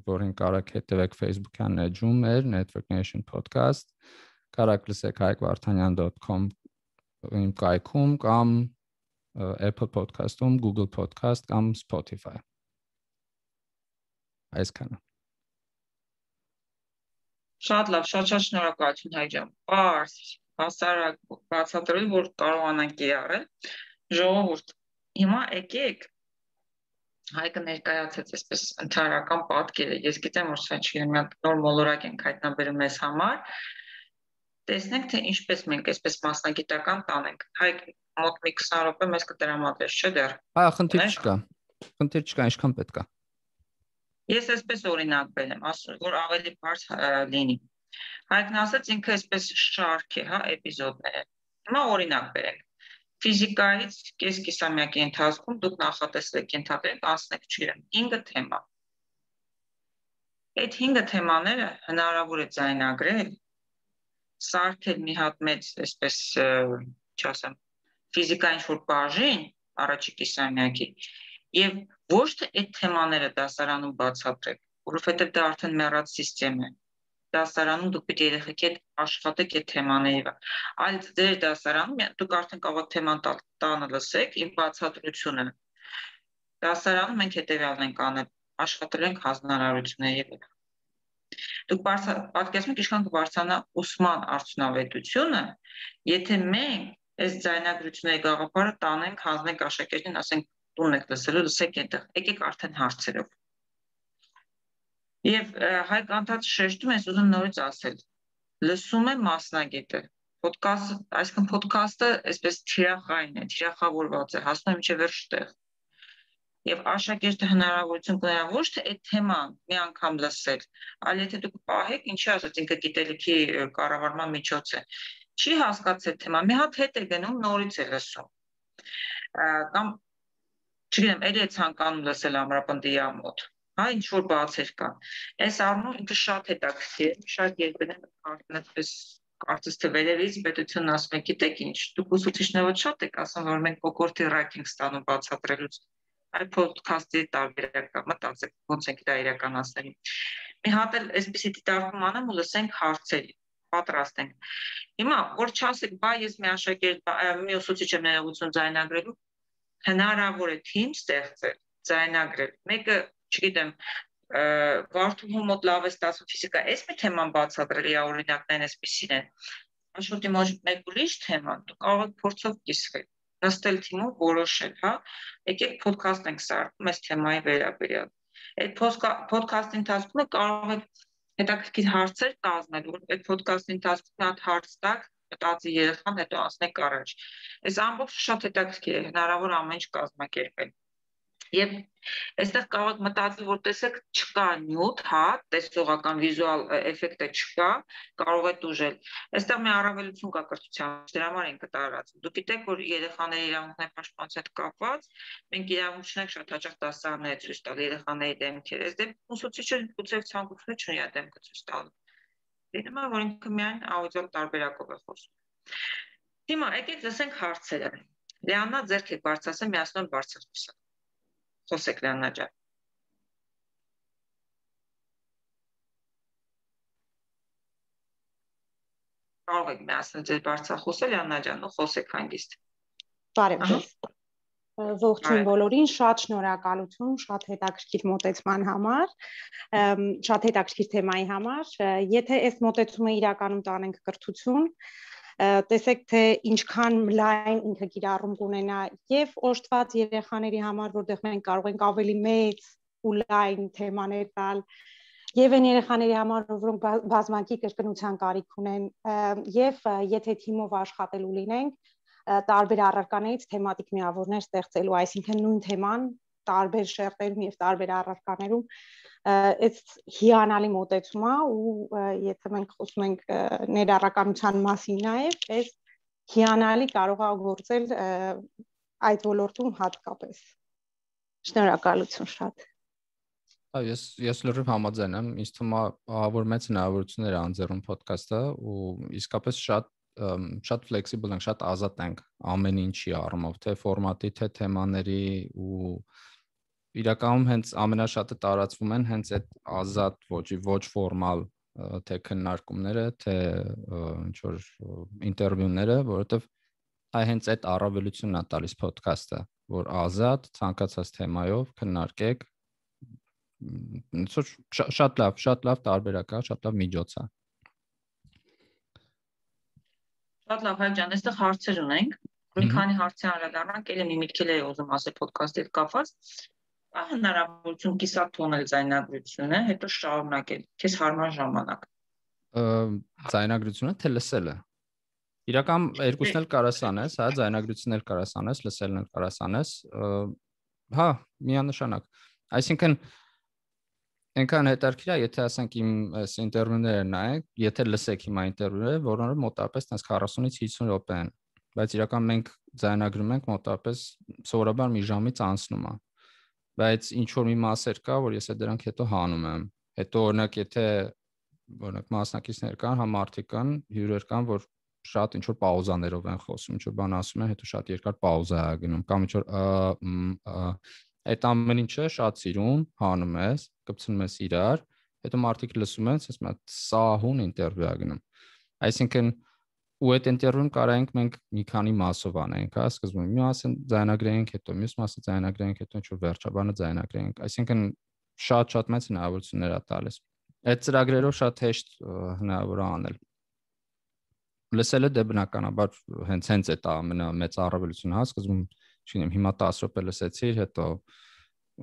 որին կարող հետևեք Facebook-յան էջում մեր Network Nation podcast, կարող լսեք հայկ վարդանյան dot com իմ կայքում կամ Apple Podcast-ում, Google Podcast կամ Spotify։ Այսքանը։ Շատ լավ, շատ-շատ շնորհակալություն Հայկ ջան։ Պարզ, հասարակ բացատրել, որ կարողանանք կիրառել։ Ժողովուրդ, հիմա եկեք Հայկը ներկայացեց այսպես ընդհանրական պատկերը։ Ես գիտեմ, որ սա չգիտեմ, մի հատ նոր մոլորակ ենք հայտնաբերում մեզ համար։ Տեսնենք, թե ինչպես մենք այսպես մասնագիտական տանենք։ Հայկ մոտ մի քսան րոպե մեզ կտրամադրես, չէ՞ դեռ։ Այո, խնդիր չկա։ Խնդիր չկա, ինչքան պետք է։ Ես այսպես օրինակ բերեմ, ասում որ ավելի բարձ լինի։ Հայկն ասաց ինքը այսպես շարք է, հա, էպիզոդներ։ Հիմա օրինակ բերենք։ Ֆիզիկայից կես կիսամյակի ընթացքում դուք նախատեսեք ենթադրեք անցնեք չգիտեմ հինգ թեմա։ Այդ հինգ թեմաները հնարավոր է ձայնագրել, սարքել մի հատ մեծ այսպես, չասեմ, ֆիզիկայի ինչ-որ բաժին առաջի կիսամյակի եւ ոչ թե այդ թեմաները դասարանում բացատրեք, որովհետեւ դա արդեն մեռած համակարգ է։ Դասարանում դուք պետք է երեխեքի հետ աշխատեք այդ թեմաների վրա, այլ ձեր դասարանում դուք արդեն կարող եք թեման տանը լսեք իմ բացատրությունը։ Դասարանում մենք հետեւյալն ենք անել, աշխատել ենք հանրարարությունների վրա։ Դուք պատկերացնում եք ինչքան կբարձրանա ուսման արդյունավետությունը, եթե մենք այս ձայնագրությունների գաղափարը տանենք, հանձնենք աշակերտին, ասենք տուն եք լսելու, լսեք այդտեղ, եկեք արդեն հարցերով։ Եվ Հայկ անդադ շեշտում ես ուզում նորից ասել, լսում է մասնագետը, podcast, այսինքն podcast-ը այսպես թիրախային է, թիրախավորված է, հասնում է մինչև վերջ տեղ։ Եվ աշակերտը հնարավորություն կունենա ոչ թե այդ թեման մի անգամ լսել, այլ եթե դուք պահեք, ինչի ասած ինքը գիտելիքի կառավարման միջոց է, չի հասկացել թեման, մի հատ հետ է գնում, նորից է լսում։ Կամ չգիտեմ, ելի է ցանկանում լսել ամրապնդի մոտ, հա, ինչ որ բացեր կան։ Այս առումով ինքը շատ հետաքրքիր է, շատ երբեմն արդեն այդպես կարծես թե վերևից պետությունն ասում է, գիտեք ինչ, դուք ուսուցիչները շատ եք ասում, որ մենք կոկորտի ռայք ենք ստանում բացատրելուց։ Այդ ոդքասթի տարբերակը մտածեք, ոնց ենք դա իրականացնելու։ Մի հատ էլ այսպեսի դիտարկում անեմ ու լսենք հարցեր, պատրաստ ենք։ Հիմա որ չասեք, բա ես մի աշակերտ, մի ուսուցիչ եմ ներողություն ձայնագրելու, հնարավոր է թիմ ստեղծել, ձայնագրել։ Մեկը, չգիտեմ, Վարդուհու մոտ լավ է ստացվում ֆիզիկա, այս մի թեման բացատրել է, օրինակներն այսպեսին են։ Աշխուտի մոտ մեկ ուրիշ թեմա, դու կարող եք փորձով կիսվել, նստել թիմով որոշել, հա։ Եկեք ոդքասթ ենք սարքում այս թեմայի վերաբերյալ։ Այդ ոդքասթի ընթացքում կարող եք հետաքրքիր հարցեր կազմել, որ այդ ոդքասթի ընթացքում մի հատ հարց տակ, մտածի երեխան, հետո ասնեք առաջ։ Այս ամբողջը շատ հետաքրքիր է, հնարավոր ամեն ինչ կազմակերպել։ Եվ այստեղ կարող եք մտածել, որ տեսեք չկա նյութ, հա, տեսողական վիզուալ էֆեկտը չկա, կարող է դուժել։ Այստեղ մի առավելություն կա կրթության, դրա համար ենք տարածում։ Դուք գիտեք, որ երեխաների իրավունքների պաշտպանության հետ կապված մենք իրավունքներ շատ հաճախ դասարաններ ցույց տալ երեխաների դեմքեր։ Այս դեպքում ուսուցիչը գուցե ցանկություն չունի այդ դեմքը ցույց տալ։ Դիտում եմ, որ ինքը միայն աուդիո տարբերակով է խոսում։ Հիմա եկեք լսենք հարցերը։ Լեանա ձեռք եք բարձրացնել, միացնում բարձրացնում։ Խոսեք Լեանա ջան։ Կարող եք միացնել ձեր բարձրախոսը Լեանա ջան, ու խոսեք հանգիստ։ Բարև ձեզ։ Ողջույն բոլորին, շատ շնորհակալություն, շատ հետաքրքիր մոտեցման համար, շատ հետաքրքիր թեմայի համար։ Եթե այս մոտեցումը իրականում տանենք կրթություն, տեսեք թե ինչքան լայն ինքը կիրառում կունենա եւ օժտված երեխաների համար, որտեղ մենք կարող ենք ավելի մեծ ու լայն թեմաներ տալ, եւ այն երեխաների համար, որոնք բազմակի կրկնության կարիք ունեն, եւ եթե թիմով աշխատելու լինենք, տարբեր առարկաներից թեմատիկ միավորներ ստեղծելու, այսինքն նույն թեման տարբեր շերտերում եւ տարբեր առարկաներում այս հիանալի մոտեցում է ու եթե մենք խոսում ենք ներառականության մասին նաեւ, այս հիանալի կարող է գործել այդ ոլորտում հատկապես։ Շնորհակալություն շատ։ Այո, ես ես լրիվ համաձայն եմ, ինձ թվում է որ մեծ հնարավորություններ է անձեռում ոդքասթը ու իսկապես շատ շատ ֆլեքսիբլ ենք, շատ ազատ ենք ամեն ինչի առումով, թե ֆորմատի, թե թեմաների ու իրականում հենց ամենաշատը տարածվում են հենց այդ ազատ ոճի, ոչ ֆորմալ թե քննարկումները, թե ինչ որ ինտերվյուները, որովհետև այ հենց այդ առավելությունն է տալիս ոդքասթը, որ ազատ, ցանկացած թեմայով քննարկեք, շատ լավ, շատ լավ տարբերակ է, շատ լավ միջոց է։ Շատ լավ, Հայկ ջան, այստեղ հարցեր ունենք։ Մի քանի հարցի անդրադառնանք, ելի մի միտքել էի ուզում ասել ոդքասթի հետ կապված։ Ահա հնարավորություն կիսատ թողնել ձայնագրությունը, հետո շարունակել, քեզ հարմար ժամանակ։ Ձայնագրությունը թե լսելը։ Իրական երկուսն էլ կարաս անես, հա, ձայնագրությունն էլ կարաս անես, լսելն էլ կարաս անես։ Հա, միանշանակ։ Այսինքն այնքան հետաքրքիր է, եթե ասենք իմ այս ինտերվյուները նայեք, եթե լսեք հիմա ինտերվյուները, որոնք մոտավորապես քառասունից հիսուն րոպե են, բայց իրական մենք ձայնագրում ենք մոտավորապես սովորաբար մի ժամից անցնում է։ Բայց ինչ որ մի մասեր կա, որ ես դրանք հետո հանում եմ։ Հետո օրինակ եթե օրինակ մասնակիցներ կան, համ մարդիկ կան, հյուրեր կան, որ շատ ինչ որ պաուզաներով են խոսում, ինչ որ բան ասում են, հետո շատ երկար պաուզա է գնում, կամ ինչ որ այդ ամեն ինչը շատ սիրուն հանում ես, կպցնում ես իրար, հետո մարդիկ լսում են, ասես մի սահուն ինտերվյու է գնում։ Այսինքն ու այդ ինտերվյուն կարայինք մենք մի քանի մասով անենք, հա, սկզբում մի մասը ձայնագրենք, հետո մյուս մասը ձայնագրենք, հետո ինչ որ վերջաբանը ձայնագրենք, այսինքն շատ-շատ մեծ հնարավորություններ է տալիս։ Այդ ծրագրերով շատ հեշտ հնարավոր է անել։ Լսելը դե բնականաբար հենց հենց այդ ամենամեծ առավելությունը, հա, սկզբում, չգիտեմ, հիմա տասը րոպե լսեցիր, հետո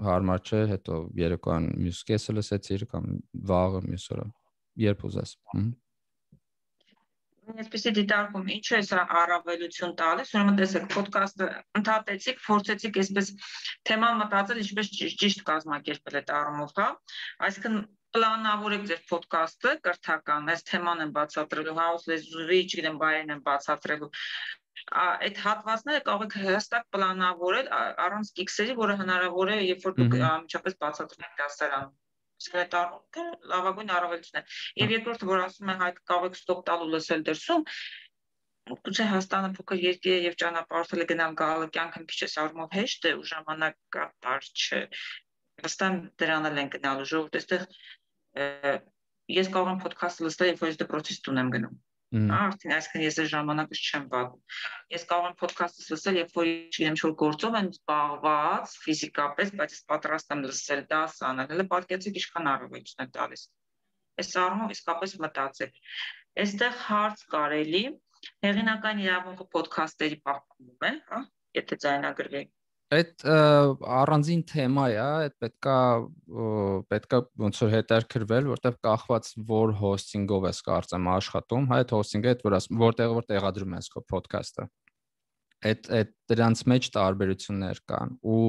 հարմար չէ, հետո երեկոյան մյուս կեսը լսեցիր կամ վաղը մյուս օրը, երբ ուզես։ Այսպեսի դիտարկում, ինչու է սա առավելություն տալիս, ուրեմն տեսեք, ոդքասթը ընդհատեցիք, փորձեցիք այսպես թեման մտածել, ինչպես ճիշտ կազմակերպել այդ առումով, հա։ Այսինքն պլանավորեք ձեր ոդքասթը կրթական, այս թեման են բացատրելու, հաուս լեզուի, չգիտեմ, բայերն են բացատրելու։ այդ հատվածները կարող եք հստակ պլանավորել առանց կիքսերի, որը հնարավոր է, երբ որ դուք անմիջապես բացատրում եք դասարանում։ Իսկ այդ լավագույն առավելությունն է։ Եվ երկրորդը, որ ասում է Հայկ, կարող եք ստոպ տալ ու լսել դրսում, գուցե Հայաստանը փոքր երկիր է եւ ճանապարհորդել գնալ գալը կյանքը մի քիչ էս առումով հեշտ է ու ժամանակատար չէ։ Վստահ դրան էլ են գնալու ժողովուրդ, այստեղ ես կարող եմ ոդքասթ լսել, երբ որ ես դպրոցից տուն եմ գնում։ Արդեն այսքան ես այս ժամանակս չեմ վատում։ Ես կարող եմ ոդքասթ լսել, երբ որ չգիտեմ ինչ-որ գործով եմ զբաղված ֆիզիկապես, բայց ես պատրաստ եմ լսել դաս անել։ Հələ պատկերացրեք ինչքան առավելություն է տալիս։ Այս առումով իսկապես մտածեք։ Այստեղ հարց կարելի, հեղինական իրավունքը ոդքասթերի պահպանվում է, հա, եթե ձայնագրվի։ Այդ առանձին թեմա է, այդ պետքա պետքա ոնց որ հետաքրքրվել, որտեղ կախված որ հոսթինգով ես կարծեմ աշխատում, հա, այդ հոսթինգը այդ որ ասում, որտեղ որ տեղադրում ես քո ոդքասթը։ Այդ այդ դրանց մեջ տարբերություններ կան ու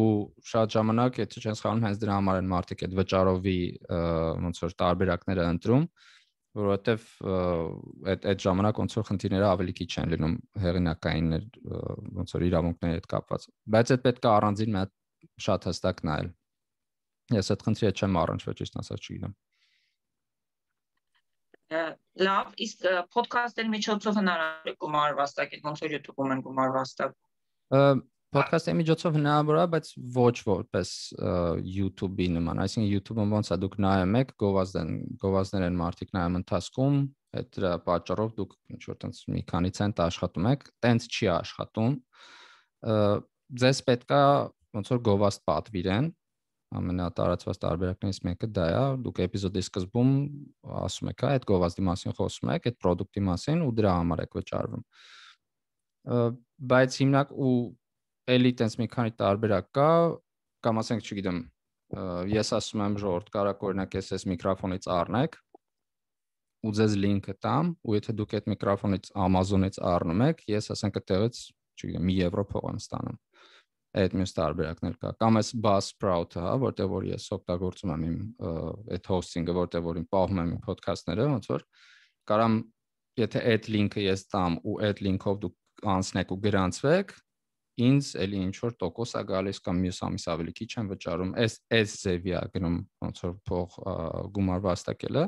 շատ ժամանակ, եթե չես խաղում, հենց դրա համար են մարդիկ այդ վճարովի ոնց որ տարբերակները ընտրում, որովհետև այդ այդ ժամանակ ոնց որ խնդիրները ավելի քիչ են լինում հեղինակային ոնց որ իրավունքների հետ կապված, բայց այդ պետք է առանձին մի հատ շատ հստակ նայել։ Ես այդ խնդրի հետ չեմ առնչվել, ճիշտ ասած չգիտեմ։ Լավ, իսկ ոդքասթերի միջոցով հնարավոր է գումար վաստակել, ոնց որ YouTube-ում են գումար վաստակում։ Ոդքասթի միջոցով հնարավոր է, բայց ոչ որպես YouTube-ի նման, այսինքն YouTube-ում ոնց է դուք նայում եք, գովազդեն, գովազդներ են մարդիկ նայում ընթացքում, այդ դրա պատճառով դուք ինչ որ տենց մի քանի ցենտ աշխատում եք, տենց չի աշխատում։ Ձեզ պետքա ոնց որ գովազդ պատվիրեն, ամենատարածված տարբերակներից մեկը դա է, դուք էպիզոդի սկզբում ասում եք, այդ գովազդի մասին խոսում եք, այդ product-ի մասին ու դրա համար եք վճարվում։ Բայց հիմնակ ու էլի տենց մի քանի տարբերակ կա, կամ ասենք, չգիտեմ, ես ասում եմ ժողովուրդ, կարակ օրինակ ես այս միկրոֆոնից առնեք ու ձեզ լինքը տամ, ու եթե դուք այդ միկրոֆոնից Amazon-ից առնում եք, ես ասենք այդտեղից, չգիտեմ, մի եվրո փող եմ ստանում։ Այդ մյուս տարբերակներ կա։ Կամ այս Buzzsprout-ը, հա, որտեղ որ ես օգտագործում եմ իմ այդ hosting-ը, որտեղ որ իմ պահում եմ իմ podcast-ները, ոնց որ կարամ, եթե այդ լինքը ես տամ ու այդ լինքով դուք անցնեք ու գրանցվեք, ինձ էլի ինչ որ տոկոս է գալիս կամ մյուս ամիս ավելի քիչ եմ վճարում, այս այս ձևի է գնում ոնց որ փող գումար վաստակելը։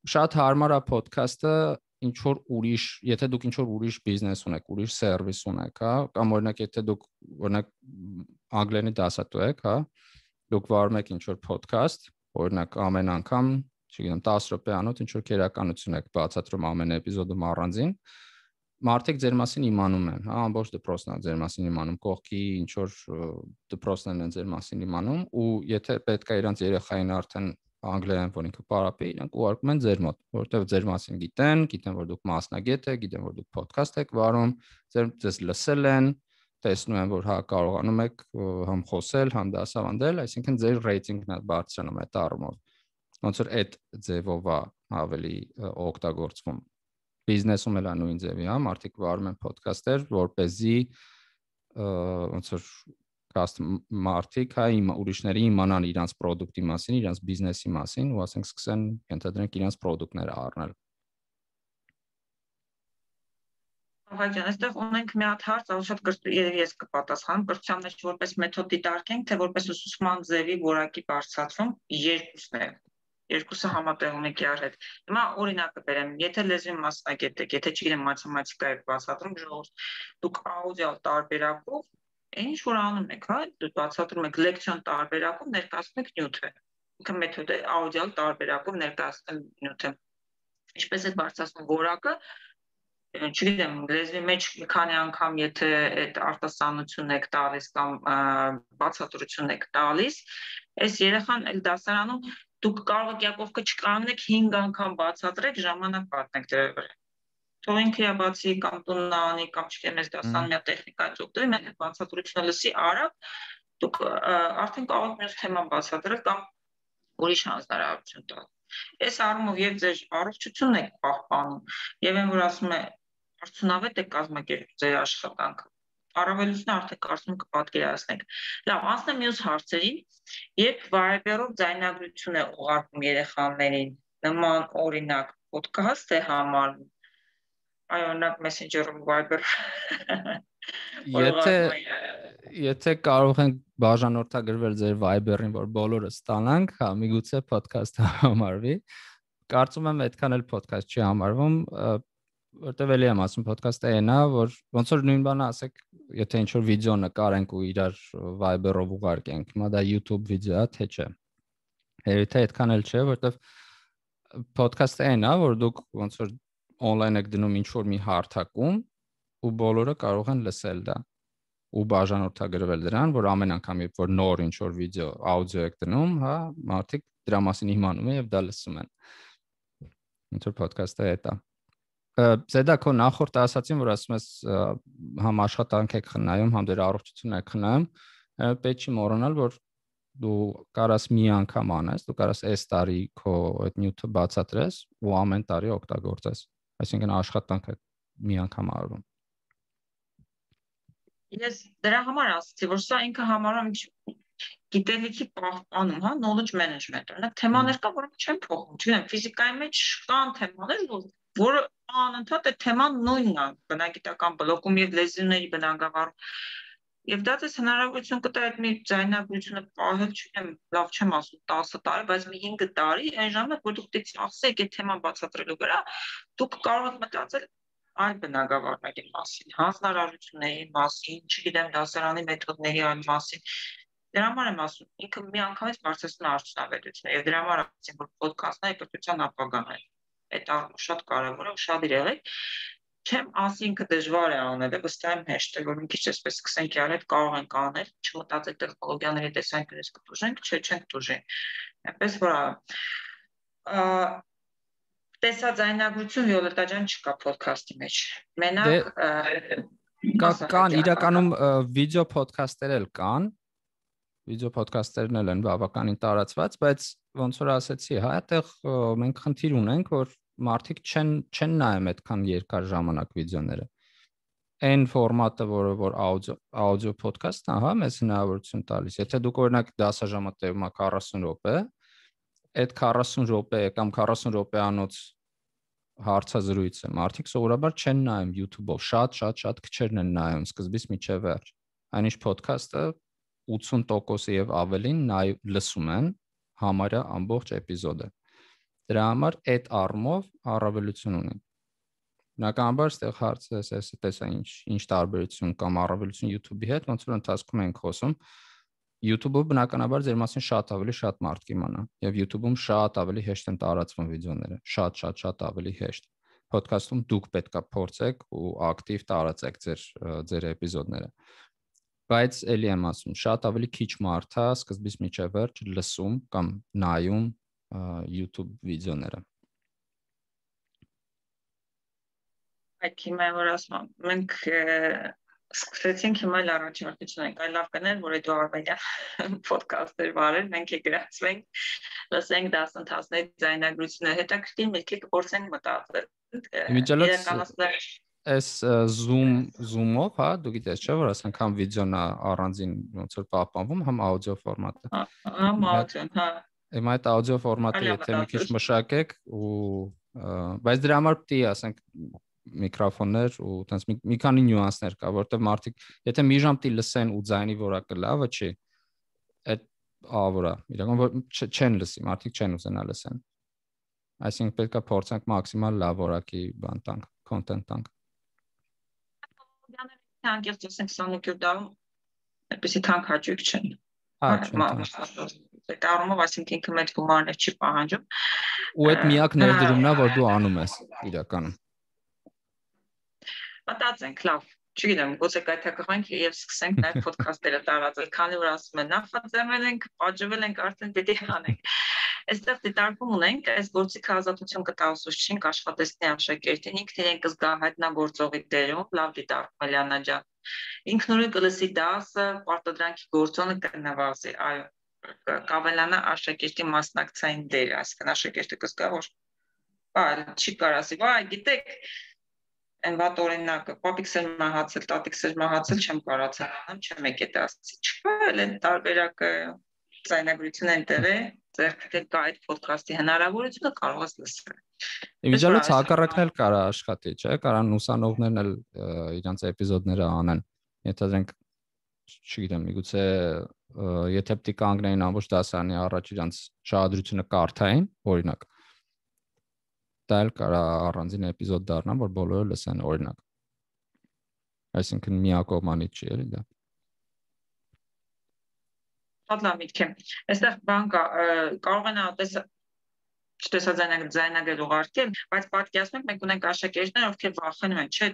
Շատ հարմար է podcast-ը ինչ որ ուրիշ, եթե դուք ինչ որ ուրիշ բիզնես ունեք, ուրիշ սերվիս ունեք, հա, կամ օրինակ եթե դուք օրինակ անգլերենի դասատու եք, հա, դուք վարում եք ինչ որ podcast, օրինակ ամեն անգամ, չգիտեմ, տասը րոպեանոց ինչ որ քերականություն եք բացատրում ամեն էպիզոդում առանձին, մարդիկ ձեր մասին իմանում են, հա, ամբողջ դպրոցն է ձեր մասին իմանում, կողքի ինչ որ դպրոցներն են ձեր մասին իմանում, ու եթե պետք է իրանց երեխային արդեն անգլերեն որ ինքը պարապի, իրանք ուղարկում են ձեր մոտ, որովհետև ձեր մասին գիտեն, գիտեն որ դուք մասնագետ եք, գիտեն որ դուք podcast եք վարում, ձեր ձեզ լսել են, տեսնում են որ հա կարողանում եք համ խոսել, համ դասավանդել, այսինքն ձեր ռեյտինգն է բարձրանում այդ առումով։ Ոնց որ այդ ձևով է ավելի օգտագործվում։ Բիզնեսում էլ նույն ձևի, հա, մարդիկ վարում են podcast-եր, որպեսզի ոնց որ կաստ մարդիկ, հա, ուրիշների իմանան իրանց product-ի մասին, իրանց բիզնեսի մասին, ու ասենք սկսեն ենթադրենք իրանց product-ները առնել։ Ահա, այստեղ ունենք մի հատ հարց, ահա շատ կրկին ես կպատասխանեմ, կրթության մեջ որպես մեթոդ դիտարկենք, թե որպես ուսուցման ձևի որակի բարձրացում, երկուսն է։ Երկուսը համատեղ ունեք իրար հետ։ Հիմա օրինակը բերեմ, եթե լեզվի մասնագետ եք, եթե չգիտեմ մաթեմատիկա եք բացատրում ժողովուրդ, դուք աուդիալ տարբերակով ինչ որ անում եք, հա, դուք բացատրում եք լեկցիոն տարբերակով ներկայացնում եք նյութը։ Ինքը մեթոդ է աուդիալ տարբերակով ներկայացնել նյութը։ Ինչպես է բարձրացնում որակը, չգիտեմ, լեզվի մեջ մի քանի անգամ եթե այդ արտասանություն եք տալիս կամ բացատրություն եք տալիս, այս երեխան էլ դասարանում դուք կարող եք Յակովկը չկանեք հինգ անգամ բացատրեք, ժամանակ պատնեք դրա վրա։ Թող ինքը բացի կամ տունն անի կամ չգիտեմ, այս դասան մի տեխնիկայից օգտվի, մենք այդ բացատրությունը լսի արագ, դուք արդեն կարող եք մյուս թեման բացատրել կամ ուրիշ հանձնարարություն տալ։ Այս առումով եւ ձեր առողջությունն եք պահպանում, եւ այն որ ասում է արդյունավետ է կազմակերպել ձեր աշխատանքը։ Առավելությունը արդեն կարծում կպատկերացնեք։ Լավ, անցնեմ մյուս հարցերին, երբ Viber-ով ձայնագրություն է ուղարկում երեխաներին, նման օրինակ podcast է համարվում, Այո, օրինակ Messenger-ում, Viber։ Եթե եթե կարող ենք բաժանորդագրվել ձեր Viber-ին, որ բոլորը ստանանք, հա, միգուցե podcast-ը համարվի։ Կարծում եմ այդքան էլ podcast չի համարվում, որտեվ էլի եմ ասում podcast-ը այնա, որ ոնց որ նույն բանը ասեք, եթե ինչ որ վիդեո նկարենք ու իրար Viber-ով ուղարկենք, հիմա դա YouTube վիդեո է, թե չէ։ Երևի թե այդքան էլ չէ, որտեվ podcast-ը այնա, որ դուք ոնց որ on-line եք դնում ինչ որ մի հարթակում ու բոլորը կարող են լսել դա ու բաժանորդագրվել դրան, որ ամեն անգամ երբ որ նոր ինչ որ վիդեո, աուդիո եք դնում, հա, մարդիկ դրա մասին իմանում են եւ դա լսում են։ Ինչ որ podcast-ը է դա։ Զեդա քո նախորդ ասացին, որ ասում ես համ աշխատանք եք խնայում, համ դեր առողջություն եք խնայում, պետք չի մոռանալ, որ դու կարաս մի անգամ անես, դու կարաս այս տարի քո այդ նյութը բացատրես ու ամեն տարի օգտագործես։ Այսինքն աշխատանքը մի անգամ արվում։ Ես դրա համար ասացի, որ սա ինքը համարում գիտելիքի պահպանում, հա, knowledge management։ Օրինակ թեմաներ կա, որոնք չեն փոխվում, չգիտեմ, ֆիզիկայի մեջ կան թեմաներ, որը անընդհատ այդ թեման նույնն է, բնագիտական բլոկում եւ լեզուների բնագավառում։ Եվ դա դες հնարավորություն կտա այդ մի ձայնագրությունը պահել, չգիտեմ, լավ չեմ ասում տասը տարի, բայց մի հինգ տարի, այն ժամանակ որ դուք դից ասեք այդ թեման բացատրելու վրա, դուք կարող եք մտածել այլ բնագավառների մասին, հանձնարարությունների մասին, չգիտեմ, դասարանի մեթոդների այլ մասին։ Դրա համար եմ ասում, ինքը մի անգամից բարձրացնում է արդյունավետությունը, եւ դրա համար ասեմ, որ ոդքասթը կրթության ապագան է։ Այդ առումով շատ կարևոր է, ուշադիր եղեք։ Չեմ ասի ինքը դժվար է անել, վստահ եմ հեշտ է, որ մի քիչ այսպես սկսենք յալ այդ կարող ենք անել, չմտածեք տեխնոլոգիաների տեսանկյունից կտուժենք, չէ, չենք տուժի։ Այնպես որ տեսաձայնագրություն Վիոլետա ջան չկա ոդքասթի մեջ։ Մենակ կան իրականում վիդեո ոդքասթեր էլ կան, վիդեո ոդքասթերն էլ են բավականին տարածված, բայց ոնց որ ասեցի, հա, այդտեղ մենք խնդիր ունենք, որ մարդիկ չեն չեն նայում այդքան երկար ժամանակ վիդեոները։ Այն ֆորմատը, որը որ աուդիո աուդիո ոդքասթն է, հա, մեզ հնարավորություն տալիս։ Եթե դուք օրինակ դասաժամը տևում է քառասուն րոպե, այդ քառասուն րոպե կամ քառասուն րոպեանոց հարցազրույց է, մարդիկ սովորաբար չեն նայում YouTube-ով, շատ շատ շատ քչերն են նայում սկզբից մինչև վերջ։ Այնիշ ոդքասթը ութսուն տոկոս եւ ավելին նայ լսում են համարյա ամբողջ էպիզոդը։ Դրա համար այդ առումով առավելություն ունի։ Բնականաբար այստեղ հարցը էս տեսա ինչ ինչ տարբերություն կամ առավելություն YouTube-ի հետ, ոնց որ ընթացքում ենք խոսում, YouTube-ով բնականաբար ձեր մասին շատ ավելի շատ մարդ կիմանա եւ YouTube-ում շատ ավելի հեշտ են տարածվում վիդեոները, շատ շատ շատ ավելի հեշտ։ Podcast-ում դուք պետքա փորձեք ու ակտիվ տարածեք ձեր ձեր էպիզոդները։ Բայց էլի եմ ասում, շատ ավելի քիչ մարդ է սկզբից մինչև վերջ լսում կամ նայում YouTube վիդեոները։ Այդ հիմա որ ասում, մենք սկսեցինք հիմա էլ առաջնորդություն ենք, այլ լավ կներ, որ այդ Արմենիա ոդքասթեր վարել, մենք է գրացվենք, լսենք դասընթացների ձայնագրությունը, հետաքրքիր մեկի կփորձենք մտածել։ Իրականացնել Այս Zoom Zoom-ով, հա, դու գիտես չէ՞ որ ասենք համ վիդեոն է առանձին ոնց որ պահպանվում, համ աուդիո ֆորմատը։ Համ աուդիոն, հա։ Հիմա այդ աուդիո ֆորմատը եթե մի քիչ մշակեք ու բայց դրա համար պետք է ասենք միկրոֆոններ ու տենց մի քանի նյուանսներ կա, որովհետև մարդիկ եթե մի ժամ տի լսեն ու ձայնի որակը լավը չի, այդ ավորա, իրական չեն լսի, մարդիկ չեն ուզենա լսեն։ Այսինքն պետք է փորձենք մաքսիմալ լավ որակի բան տանք, content տանք։ Անկեղծ ասենք քսանուկյոթ դարում այդպեսի թանկ հաճույք չեն։ Հա, չեն։ Այդ առումով այսինքն ինքը մեծ գումարներ չի պահանջում։ Ու այդ միակ ներդրումն է, որ դու անում ես իրականում։ Մտածենք, լավ, չգիտեմ, գուցե կայթակղենք եւ սկսենք նաեւ ոդքասթերը տարածել, քանի որ ասում են նախաձեռնել ենք, պատժվել ենք, արդեն պետք է անենք։ Այստեղ դիտարկում ունենք, այս գործիքը ազատություն կտա ուսուցչին, աշխատեցնի աշակերտին, ինքն իրեն կզգա հայտնագործողի դերում, լավ դիտարկում Էլիանա ջան։ Ինքնուրույն կլսի դասը, պարտադրանքի գործոնը կնվազի, այո, կավելանա աշակերտի մասնակցային դերը, այսինքն աշակերտը կզգա, որ բա չի կարասի, վայ, գիտեք, այն վատ օրինակը, պապիկս էր մահացել, տատիկս էր մահացել, չեմ կարացել անեմ, չեմ եկել ասի, չկա էլ տարբերակը ձայնագրություն են տեղի, ձեռքդ կա այդ ոդքասթի հնարավորությունը կարող ես լսել։ Իմիջիալից հակառակն էլ կարա աշխատի, չէ՞, կարան ուսանողներն էլ իրանց էպիզոդները անեն։ Եթե դրանք չգիտեմ, միգուցե եթե պետք է կանգնեին ամբողջ դասարանի առաջ իրանց շահադրությունը կարդային, օրինակ, դա էլ կարա առանձին էպիզոդ դառնա, որ բոլորը լսեն, օրինակ։ Այսինքն միակողմանի չի էլի դա։ Շատ լավ միտք է։ Այստեղ բան կա, կարող են այդպես չտեսաձայնագրել ուղարկել, բայց պատկերացնենք մենք ունենք աշակերտներ, ովքեր վախենում են, չէ,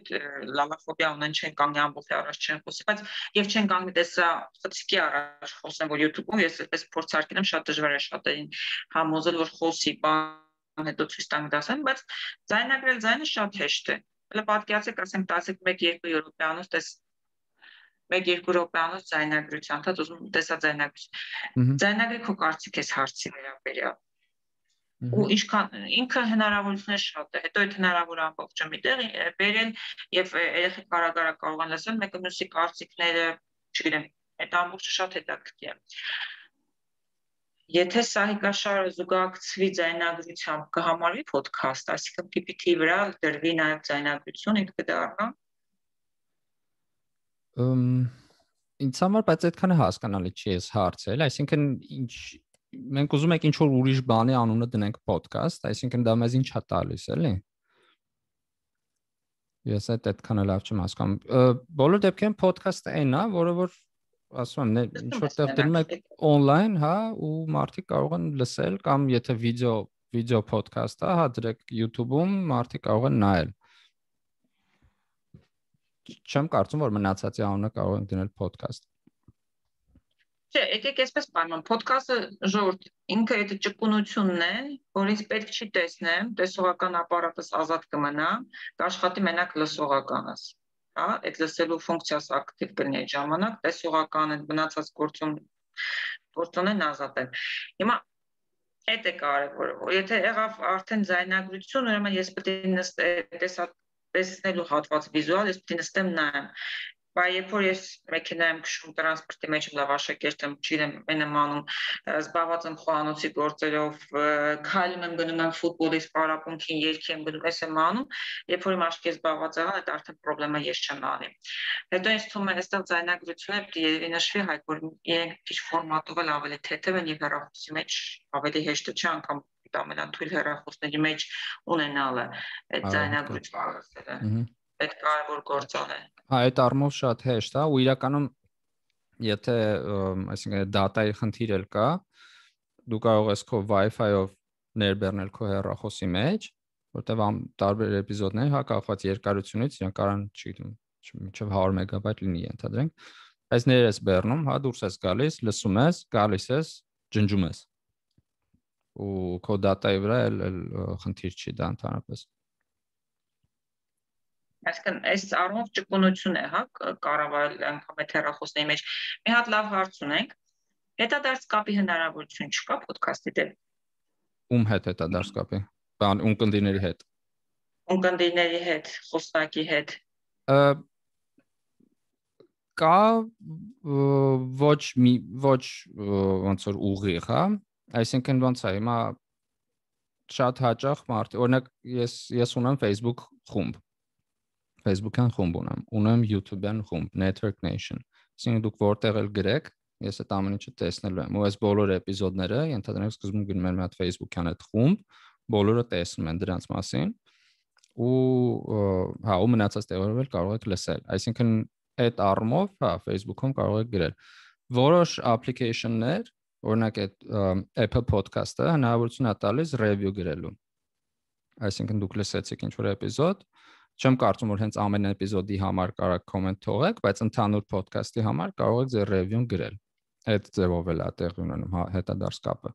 լալաֆոբիա ունեն, չեն կանգնի ամբողջ առաջ չեն խոսի, բայց եւ չեն կանգնի տեսա խցիկի առաջ խոսեն, որ YouTube-ում ես այդպես փորձարկել եմ, շատ դժվար է շատերին համոզել, որ խոսի, բան հետո ցույց տանք դասեն, բայց ձայնագրել ձայնը շատ հեշտ է։ Հələ պատկերացեք, ասենք տասը մեկ երկու րոպեանոց տես մեկ երկու րոպեանոց ձայնագրության, դա ուզում տեսաձայնագրություն։ Ձայնագրի քո կարծիքես հարցի վերաբերյալ։ Ու ինչքան ինքը հնարավորություններ շատ է, հետո այդ հնարավոր ամբողջը միտեղ բերել եւ երեխեք կարագարա կարող են լսել մեկը մյուսի կարծիքները, չգիտեմ, այդ ամբողջը շատ հետաքրքիր է։ Եթե սահիկաշարը զուգակցվի ձայնագրությամբ կհամարվի podcast, այսինքն P P T-ի վրա դրվի նաեւ ձայնագրություն, ինքը կդառնա։ Ըմ ինձ համար բայց այդքան հասկանալի չի էս հարցը, այսինքն ինչ մենք ուզում ենք ինչ-որ ուրիշ բանի անունը դնենք podcast, այսինքն դա մեզ ինչ է տալիս, էլի։ Ես այդ այդքան լավ չեմ հասկանում։ Բոլոր դեպքերում podcast-ը այն է, որը որ ասում եմ, ինչ-որ տեղ դնում եք on-line, հա, ու մարդիկ կարող են լսել կամ եթե վիդեո վիդեո podcast-ը, հա, դրեք YouTube-ում, մարդիկ կարող են նայել։ Չեմ կարծում, որ մնացածի անունը կարող են դնել podcast։ Չէ, եկեք այսպես բանան, podcast-ը ժողովուրդ ինքը այդ ճկունությունն է, որ ինձ պետք չի տեսնեմ, տեսողական ապարատս ազատ կմնա, կաշխատի մենակ լսողականս, հա, այդ լսելու ֆունկցիաս ակտիվ կլինի այդ ժամանակ, տեսողական այդ մնացած գործուն գործոնեն ազատ են։ Հիմա այդ է կարևորը, եթե եղավ արդեն ձայնագրություն, ուրեմն ես պետք է նստեմ տեսնելու հատված վիզուալ, ես պետք է նստեմ նայեմ։ Բայց երբ որ ես մեքենայում քշում տրանսպորտի մեջ լավ աշակերտ եմ, չգիտեմ, այն եմ անում, զբաղված եմ խոհանոցի գործերով, քայլում եմ գնում եմ ֆուտբոլի սպարապունքին, երգի եմ գնում, ես եմ անում, երբ որ իմ աչքի զբաղված եղան, այդ արդեն խնդրեմը ես չեմ անի։ Հետո ինձ թվում է այստեղ ձայնագրությունը պետք է նշվի հայ, որ իրենք քիչ ֆորմատով էլ ավելի թեթև են եւ հեռախոսի մեջ ավելի հեշտ չէ անգամ ամենաթույլ հեռախոսների մեջ ունենալը այդ ձայնագրությունը։ Այդ կարևոր գործոն է։ Հա, այդ առումով շատ հեշտ է, ու իրականում եթե, այսինքն դատայի խնդիր էլ կա, դու կարող ես քո Wi-Fi-ով ներբեռնել քո հեռախոսի մեջ, որտեղ տարբեր էպիզոդներ, հա, կախված երկարությունից, իրենք կարան, չգիտեմ, մինչև հարյուր մեգաբայթ լինի ենթադրենք, այս ներ ես բեռնում, հա, դուրս ես գալիս, լսում ես, գալիս ես, ջնջում ես։ Ու քո դատայի վրա էլ խնդիր չի դա ընդհանրապես։ Այսինքն այս առումով ճկունություն է, հա, կառավարել անգամ այդ հեռախոսների մեջ։ Մի հատ լավ հարց ունենք։ Հետադարձ կապի հնարավորություն չկա podcast-ի դեպքում։ Ում հետ հետադարձ կապի։ Բան ունկնդիրների հետ։ Ունկնդիրների հետ, խոսնակի հետ։ Կա ոչ մի ոչ ոնց որ ուղիղ, հա։ Այսինքն ոնց է, հիմա շատ հաճախ մարդ, օրինակ ես ես ունեմ Facebook խումբ։ Facebook-յան խումբ ունեմ, ունեմ YouTube-յան խումբ, Network Nation։ Այսինքն դուք որտեղ էլ գրեք, ես այդ ամեն ինչը տեսնելու եմ։ Ու այս բոլոր էպիզոդները, ենթադրենք սկզբում գնում են մի հատ Facebook-յան այդ խումբ, բոլորը տեսնում են դրանց մասին։ Ու հա, ու մնացած տեղերով էլ կարող եք լսել։ Այսինքն այդ առումով, հա, Facebook-ում կարող եք գրել։ Որոշ application-ներ, օրինակ այդ Apple Podcast-ը հնարավորություն է տալիս review գրելու։ Այսինքն դուք լսեցիք ինչ-որ էպիզոդ, չեմ կարծում որ հենց ամեն էպիզոդի համար կարող կոմենտ թողեք, բայց ընդհանուր podcast-ի համար կարող եք ձեր review-ն գրել։ Այդ ձևով էլ է տեղի ունենում հետադարձ կապը։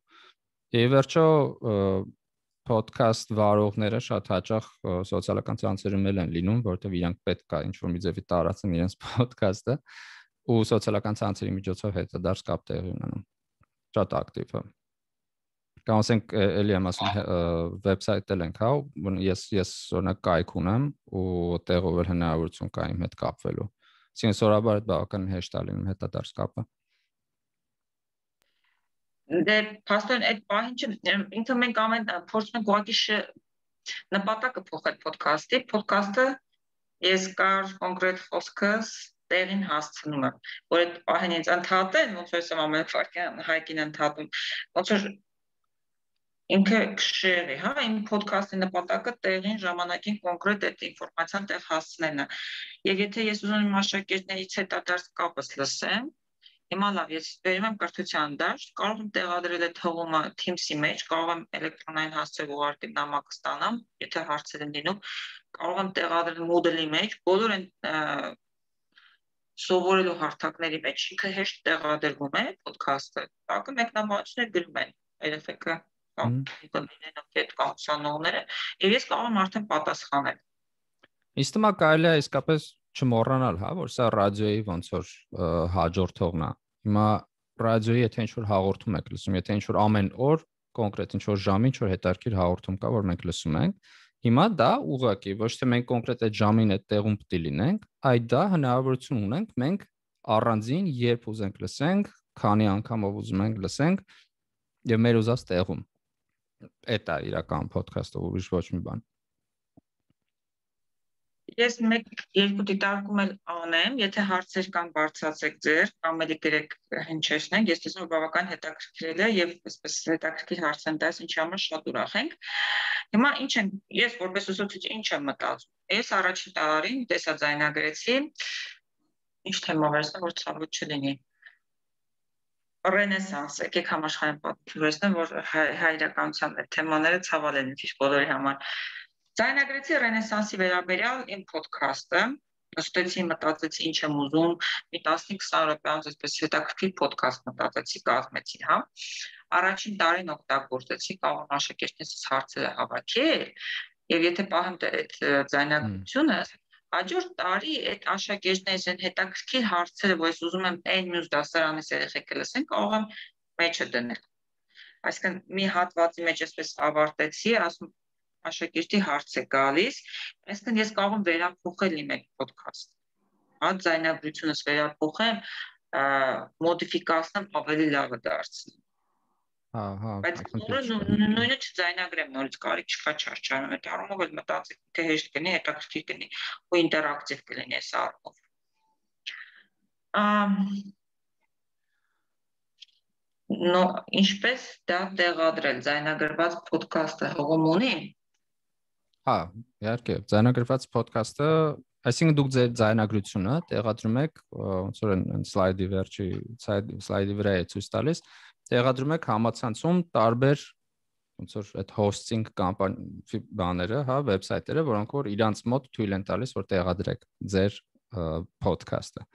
Եվ վերջո podcast վարողները շատ հաճախ սոցիալական ցանցերում են լինում, որովհետև իրանք պետք է ինչ-որ մի ձևի տարածեն իրենց podcast-ը, ու սոցիալական ցանցերի միջոցով հետադարձ կապ տեղի ունենում։ Շատ ակտիվ է։ Կամ ասենք էլի եմ ասում վեբսայթ-ել ենք, հա, ես ես օրինակ կայք ունեմ ու տեղով էլ հնարավորություն կա իմ հետ կապվելու։ Այսինքն սովորաբար այդ բավական հեշտ է լինում հետադարձ կապը։ Դե փաստորեն այդ պահին ինքը մենք ամեն փորձում ենք ուղղակի նպատակը փոխել podcast-ի, podcast-ը ես կար կոնկրետ խոսքս տեղին հասցնում եմ, որ այդ պահին ինձ ընդհատեն, ոնց որ ես ամեն ֆարկյան հայկին ընդհատում, ոնց որ ինքը քշերի, հա, իմ podcast-ի նպատակը տեղին ժամանակին կոնկրետ այդ ինֆորմացիան տեղ հասցնելն է։ Եվ եթե ես ուզում եմ աշակերտներից հետադարձ կապս լսեմ, հիմա լավ, ես վերում եմ կրթության դաշտ, կարող եմ տեղադրել այդ հղումը Teams-ի մեջ, կարող եմ էլեկտրոնային հասցեով ուղարկել նամակ ստանամ, եթե հարցեր են լինում, կարող եմ տեղադրել Moodle-ի մեջ, բոլոր այն սովորելու հարթակների մեջ ինքը հեշտ տեղադրվում է podcast-ը, տակը մեկնաբանություններ գրում են երեխեքը կլինեն այդ կառուցանողները, եւ ես կարող եմ արդեն պատասխանել։ Իսկ հիմա կարելի է իսկապես չմոռանալ, հա, որ սա ռադիոյի ոնց որ հաջորդողն է։ Հիմա ռադիոյի եթե ինչ-որ հաղորդում եք լսում, եթե ինչ-որ ամեն օր կոնկրետ ինչ-որ ժամին ինչ-որ հետաքրքիր հաղորդում կա, որ մենք լսում ենք, հիմա դա ուղղակի ոչ թե մենք կոնկրետ այդ ժամին այդ տեղում պետք է լինենք, այլ դա հնարավորություն ունենք մենք առանձին երբ ուզենք լսենք, քանի անգամով ուզում ենք լսենք եւ մեր ուզած տեղում։ Էդ է իրական podcast-ը, ուրիշ ոչ մի բան։ Ես մեկ երկու դիտարկում էլ անեմ, եթե հարցեր կան բարձրացեք ձեր, կամ էլի գրեք հնչեցնենք, ես տեսնում եմ բավական հետաքրքրել է եւ այսպես հետաքրքիր հարց են տալիս, ինչի համար շատ ուրախ ենք։ Հիմա ինչ են, ես որպես ուսուցիչ ինչ եմ մտածում։ Ես առաջին տարին տեսաձայնագրեցի, ինչ թեմով էր, որ ցավոտ չլինի։ Ռենեսանս, եկեք համաշխարհային պատմություն, որ հայրականության թեմաները ցավալ են ինչ բոլորի համար։ Ձայնագրեցի Ռենեսանսի վերաբերյալ իմ podcast-ը, նստեցի, մտածեցի ինչ եմ ուզում, մի տասնից քսան րոպեանոց այսպես հետաքրքիր podcast մտածեցի, կազմեցի, հա։ Առաջին տարին օգտագործեցի, կարող եմ աշակերտներիս հարցերը հավաքել, եւ եթե պահեմ այդ ձայնագրությունը, հաջորդ տարի այդ աշակերտներից են հետաքրքիր հարցերը, որ ես ուզում եմ այն մյուս դասարանից երեխեքը լսեն, կարող եմ մեջը դնել։ Այսինքն մի հատվածի մեջ այսպես ավարտեցի, ասում աշակերտի հարց է գալիս, այսինքն ես կարող եմ վերափոխել իմ այդ podcast։ Հա, ձայնագրությունս վերափոխեմ, մոդիֆիկացնեմ, ավելի լավը դարձնեմ։ Հա, հա, բայց նույնը չձայնագրեմ, նորից կարիք չկա չարչարում, այդ առումով էլ մտածեք, թե հեշտ կլինի, հետաքրքիր կլինի ու ինտերակտիվ կլինի այս առումով։ Նո, ինչպես դա տեղադրել, ձայնագրված podcast-ը հողում ունի։ Հա, իհարկե, ձայնագրված podcast-ը, այսինքն դուք ձեր ձայնագրությունը տեղադրում եք, ոնց որ այն սլայդի վերջի սլայդի վրա է ցույց տալիս, տեղադրում եք համացանցում տարբեր ոնց որ այդ hosting կամպանիա բաները, հա, վեբսայթերը, որոնք որ իրանց մոտ թույլ են տալիս, որ տեղադրեք ձեր podcast-ը։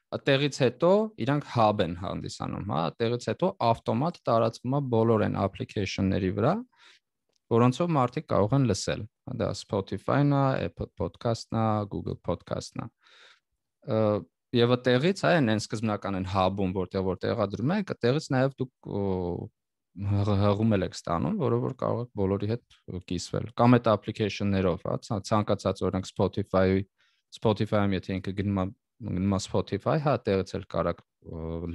Այդտեղից հետո իրանք hub են հանդիսանում, հա, այդտեղից հետո ավտոմատ տարածվում է բոլոր այն application-ների վրա, որոնցով մարդիկ կարող են լսել։ Դա Spotify-ն է, Apple Podcast-ն է, Google Podcast-ն է։ Եվ այդտեղից այն այն սկզբնական են hub-ում, որտեղ որ տեղադրում եք, այդտեղից նաև դուք հղում եք ստանում, որով որ կարող եք բոլորի հետ կիսվել։ Կամ այդ application-ներով, հա, ցանկացած օրինակ Spotify-ի Spotify-ում եթե ինքը գնում է գնում է Spotify, հա, այդտեղից էլ կարաք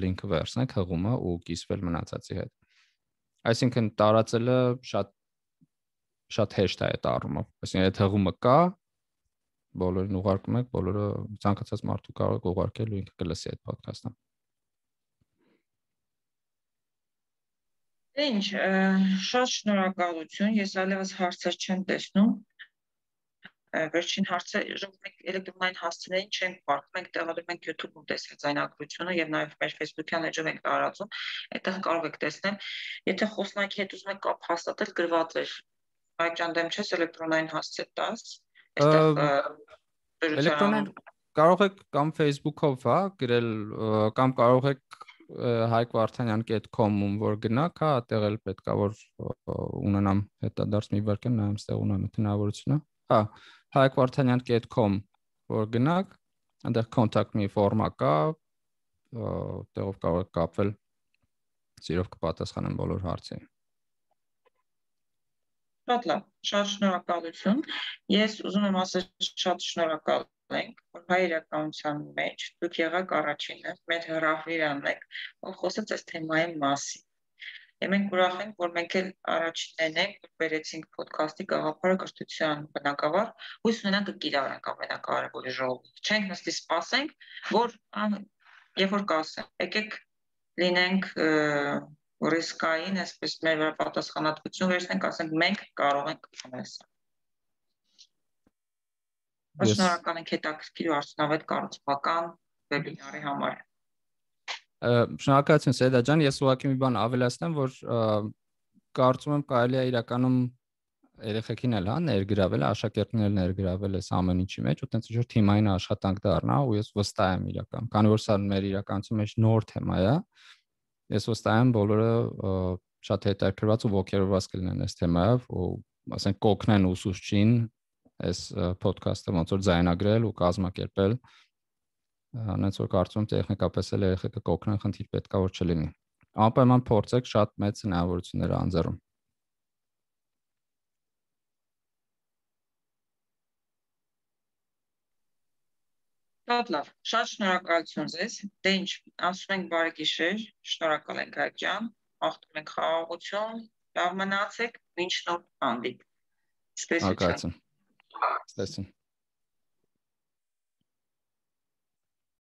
link-ը վերցնեք հղումը ու կիսվել մնացածի հետ։ Այսինքն տարածելը շատ շատ հեշտ է այդ առումով։ Այսինքն այդ հղումը կա, բոլորին ուղարկում եք, բոլորը ցանկացած մարդու կարող եք ուղարկել ու ինքը կլսի այդ podcast-ը։ Ինչ, շատ շնորհակալություն, ես այլևս հարցեր չեմ տեսնում։ Վերջին հարցը մենք էլեկտրոնային հասցեներին չենք պարտվում, մենք տեղադրում ենք YouTube-ում տեսաձայնագրությունը եւ նաեւ մեր Facebook-յան էջով ենք տարածում, այդտեղ կարող եք տեսնել։ Եթե խոսնակի հետ ուզում եք կապ հաստատել, գրված է Այջան դեմ չես էլեկտրոնային հասցե տաս, այստեղ էլեկտրոնային կարող եք կամ Facebook-ով, հա, գրել կամ կարող եք հայկ վարդանյան dot com-ում որ գնաք, հա, այդտեղ էլ պետքա որ ունենամ հետադարձ մի վարքան նայեմ, այստեղ ունեմ այդ հնարավորությունը։ Հա, հայկ վարդանյան dot com որ գնաք, այնտեղ contact me ֆորմա կա, այդտեղով կարող եք կապվել, սիրով կպատասխանեմ բոլոր հարցերին։ Շատ լավ, շատ շնորհակալություն։ Ես ուզում եմ ասել շատ շնորհակալ ենք, որ հայրականության մեջ դուք եղաք առաջինը, մեր հրավիրան եք, որ խոսեց այս թեմայի մասին։ Եվ մենք ուրախ ենք, որ մենք էլ առաջիններն ենք, որ բերեցինք ոդքասթի գաղափարը կրթության բնակավար, հույս ունենանք կկիրառենք ամենակարևորի ժողովուրդ։ Չենք նստի սպասենք, որ երբ որ կասեն, եկեք լինենք ռիսկային, այսպես մեր վրա պատասխանատվություն վերցնենք, ասենք մենք կարող ենք անել սա։ Շնորհակալ ենք հետաքրքիր ու արդյունավետ կառուցողական վեբինարի համար։ Շնորհակալություն Սեյդա ջան, ես ուղղակի մի բան ավելացնեմ, որ կարծում եմ կարելի է իրականում երեխեքին էլ հա ներգրավել, աշակերտներին ներգրավել այս ամեն ինչի մեջ, ու տենց ինչ-որ թիմային աշխատանք դառնա, ու ես վստահ եմ իրական, քանի որ սա մեր իրականացում մեջ նոր թեմա է, ես վստահ եմ բոլորը շատ հետաքրքրված ու ոգևորված կլինեն այս թեմայով, ու ասենք կօգնեն ուսուցչին այս ոդքասթը ոնց որ ձայնագրել ու կազմակերպել, այնց որ կարծում եմ տեխնիկապես էլ երեխեքը կօգնեն, խնդիր պետքա որ չլինի։ Անպայման փորձեք, շատ մեծ հնարավորություններ անձեռում։ Շատ լավ, շատ շնորհակալություն ձեզ։ Դե ինչ, ասում ենք բարի գիշեր, շնորհակալ ենք Հայկ ջան, աղթում ենք խաղաղություն, լավ մնացեք, մինչ նոր հանդիպ։ Սպասություն։ Սպասություն։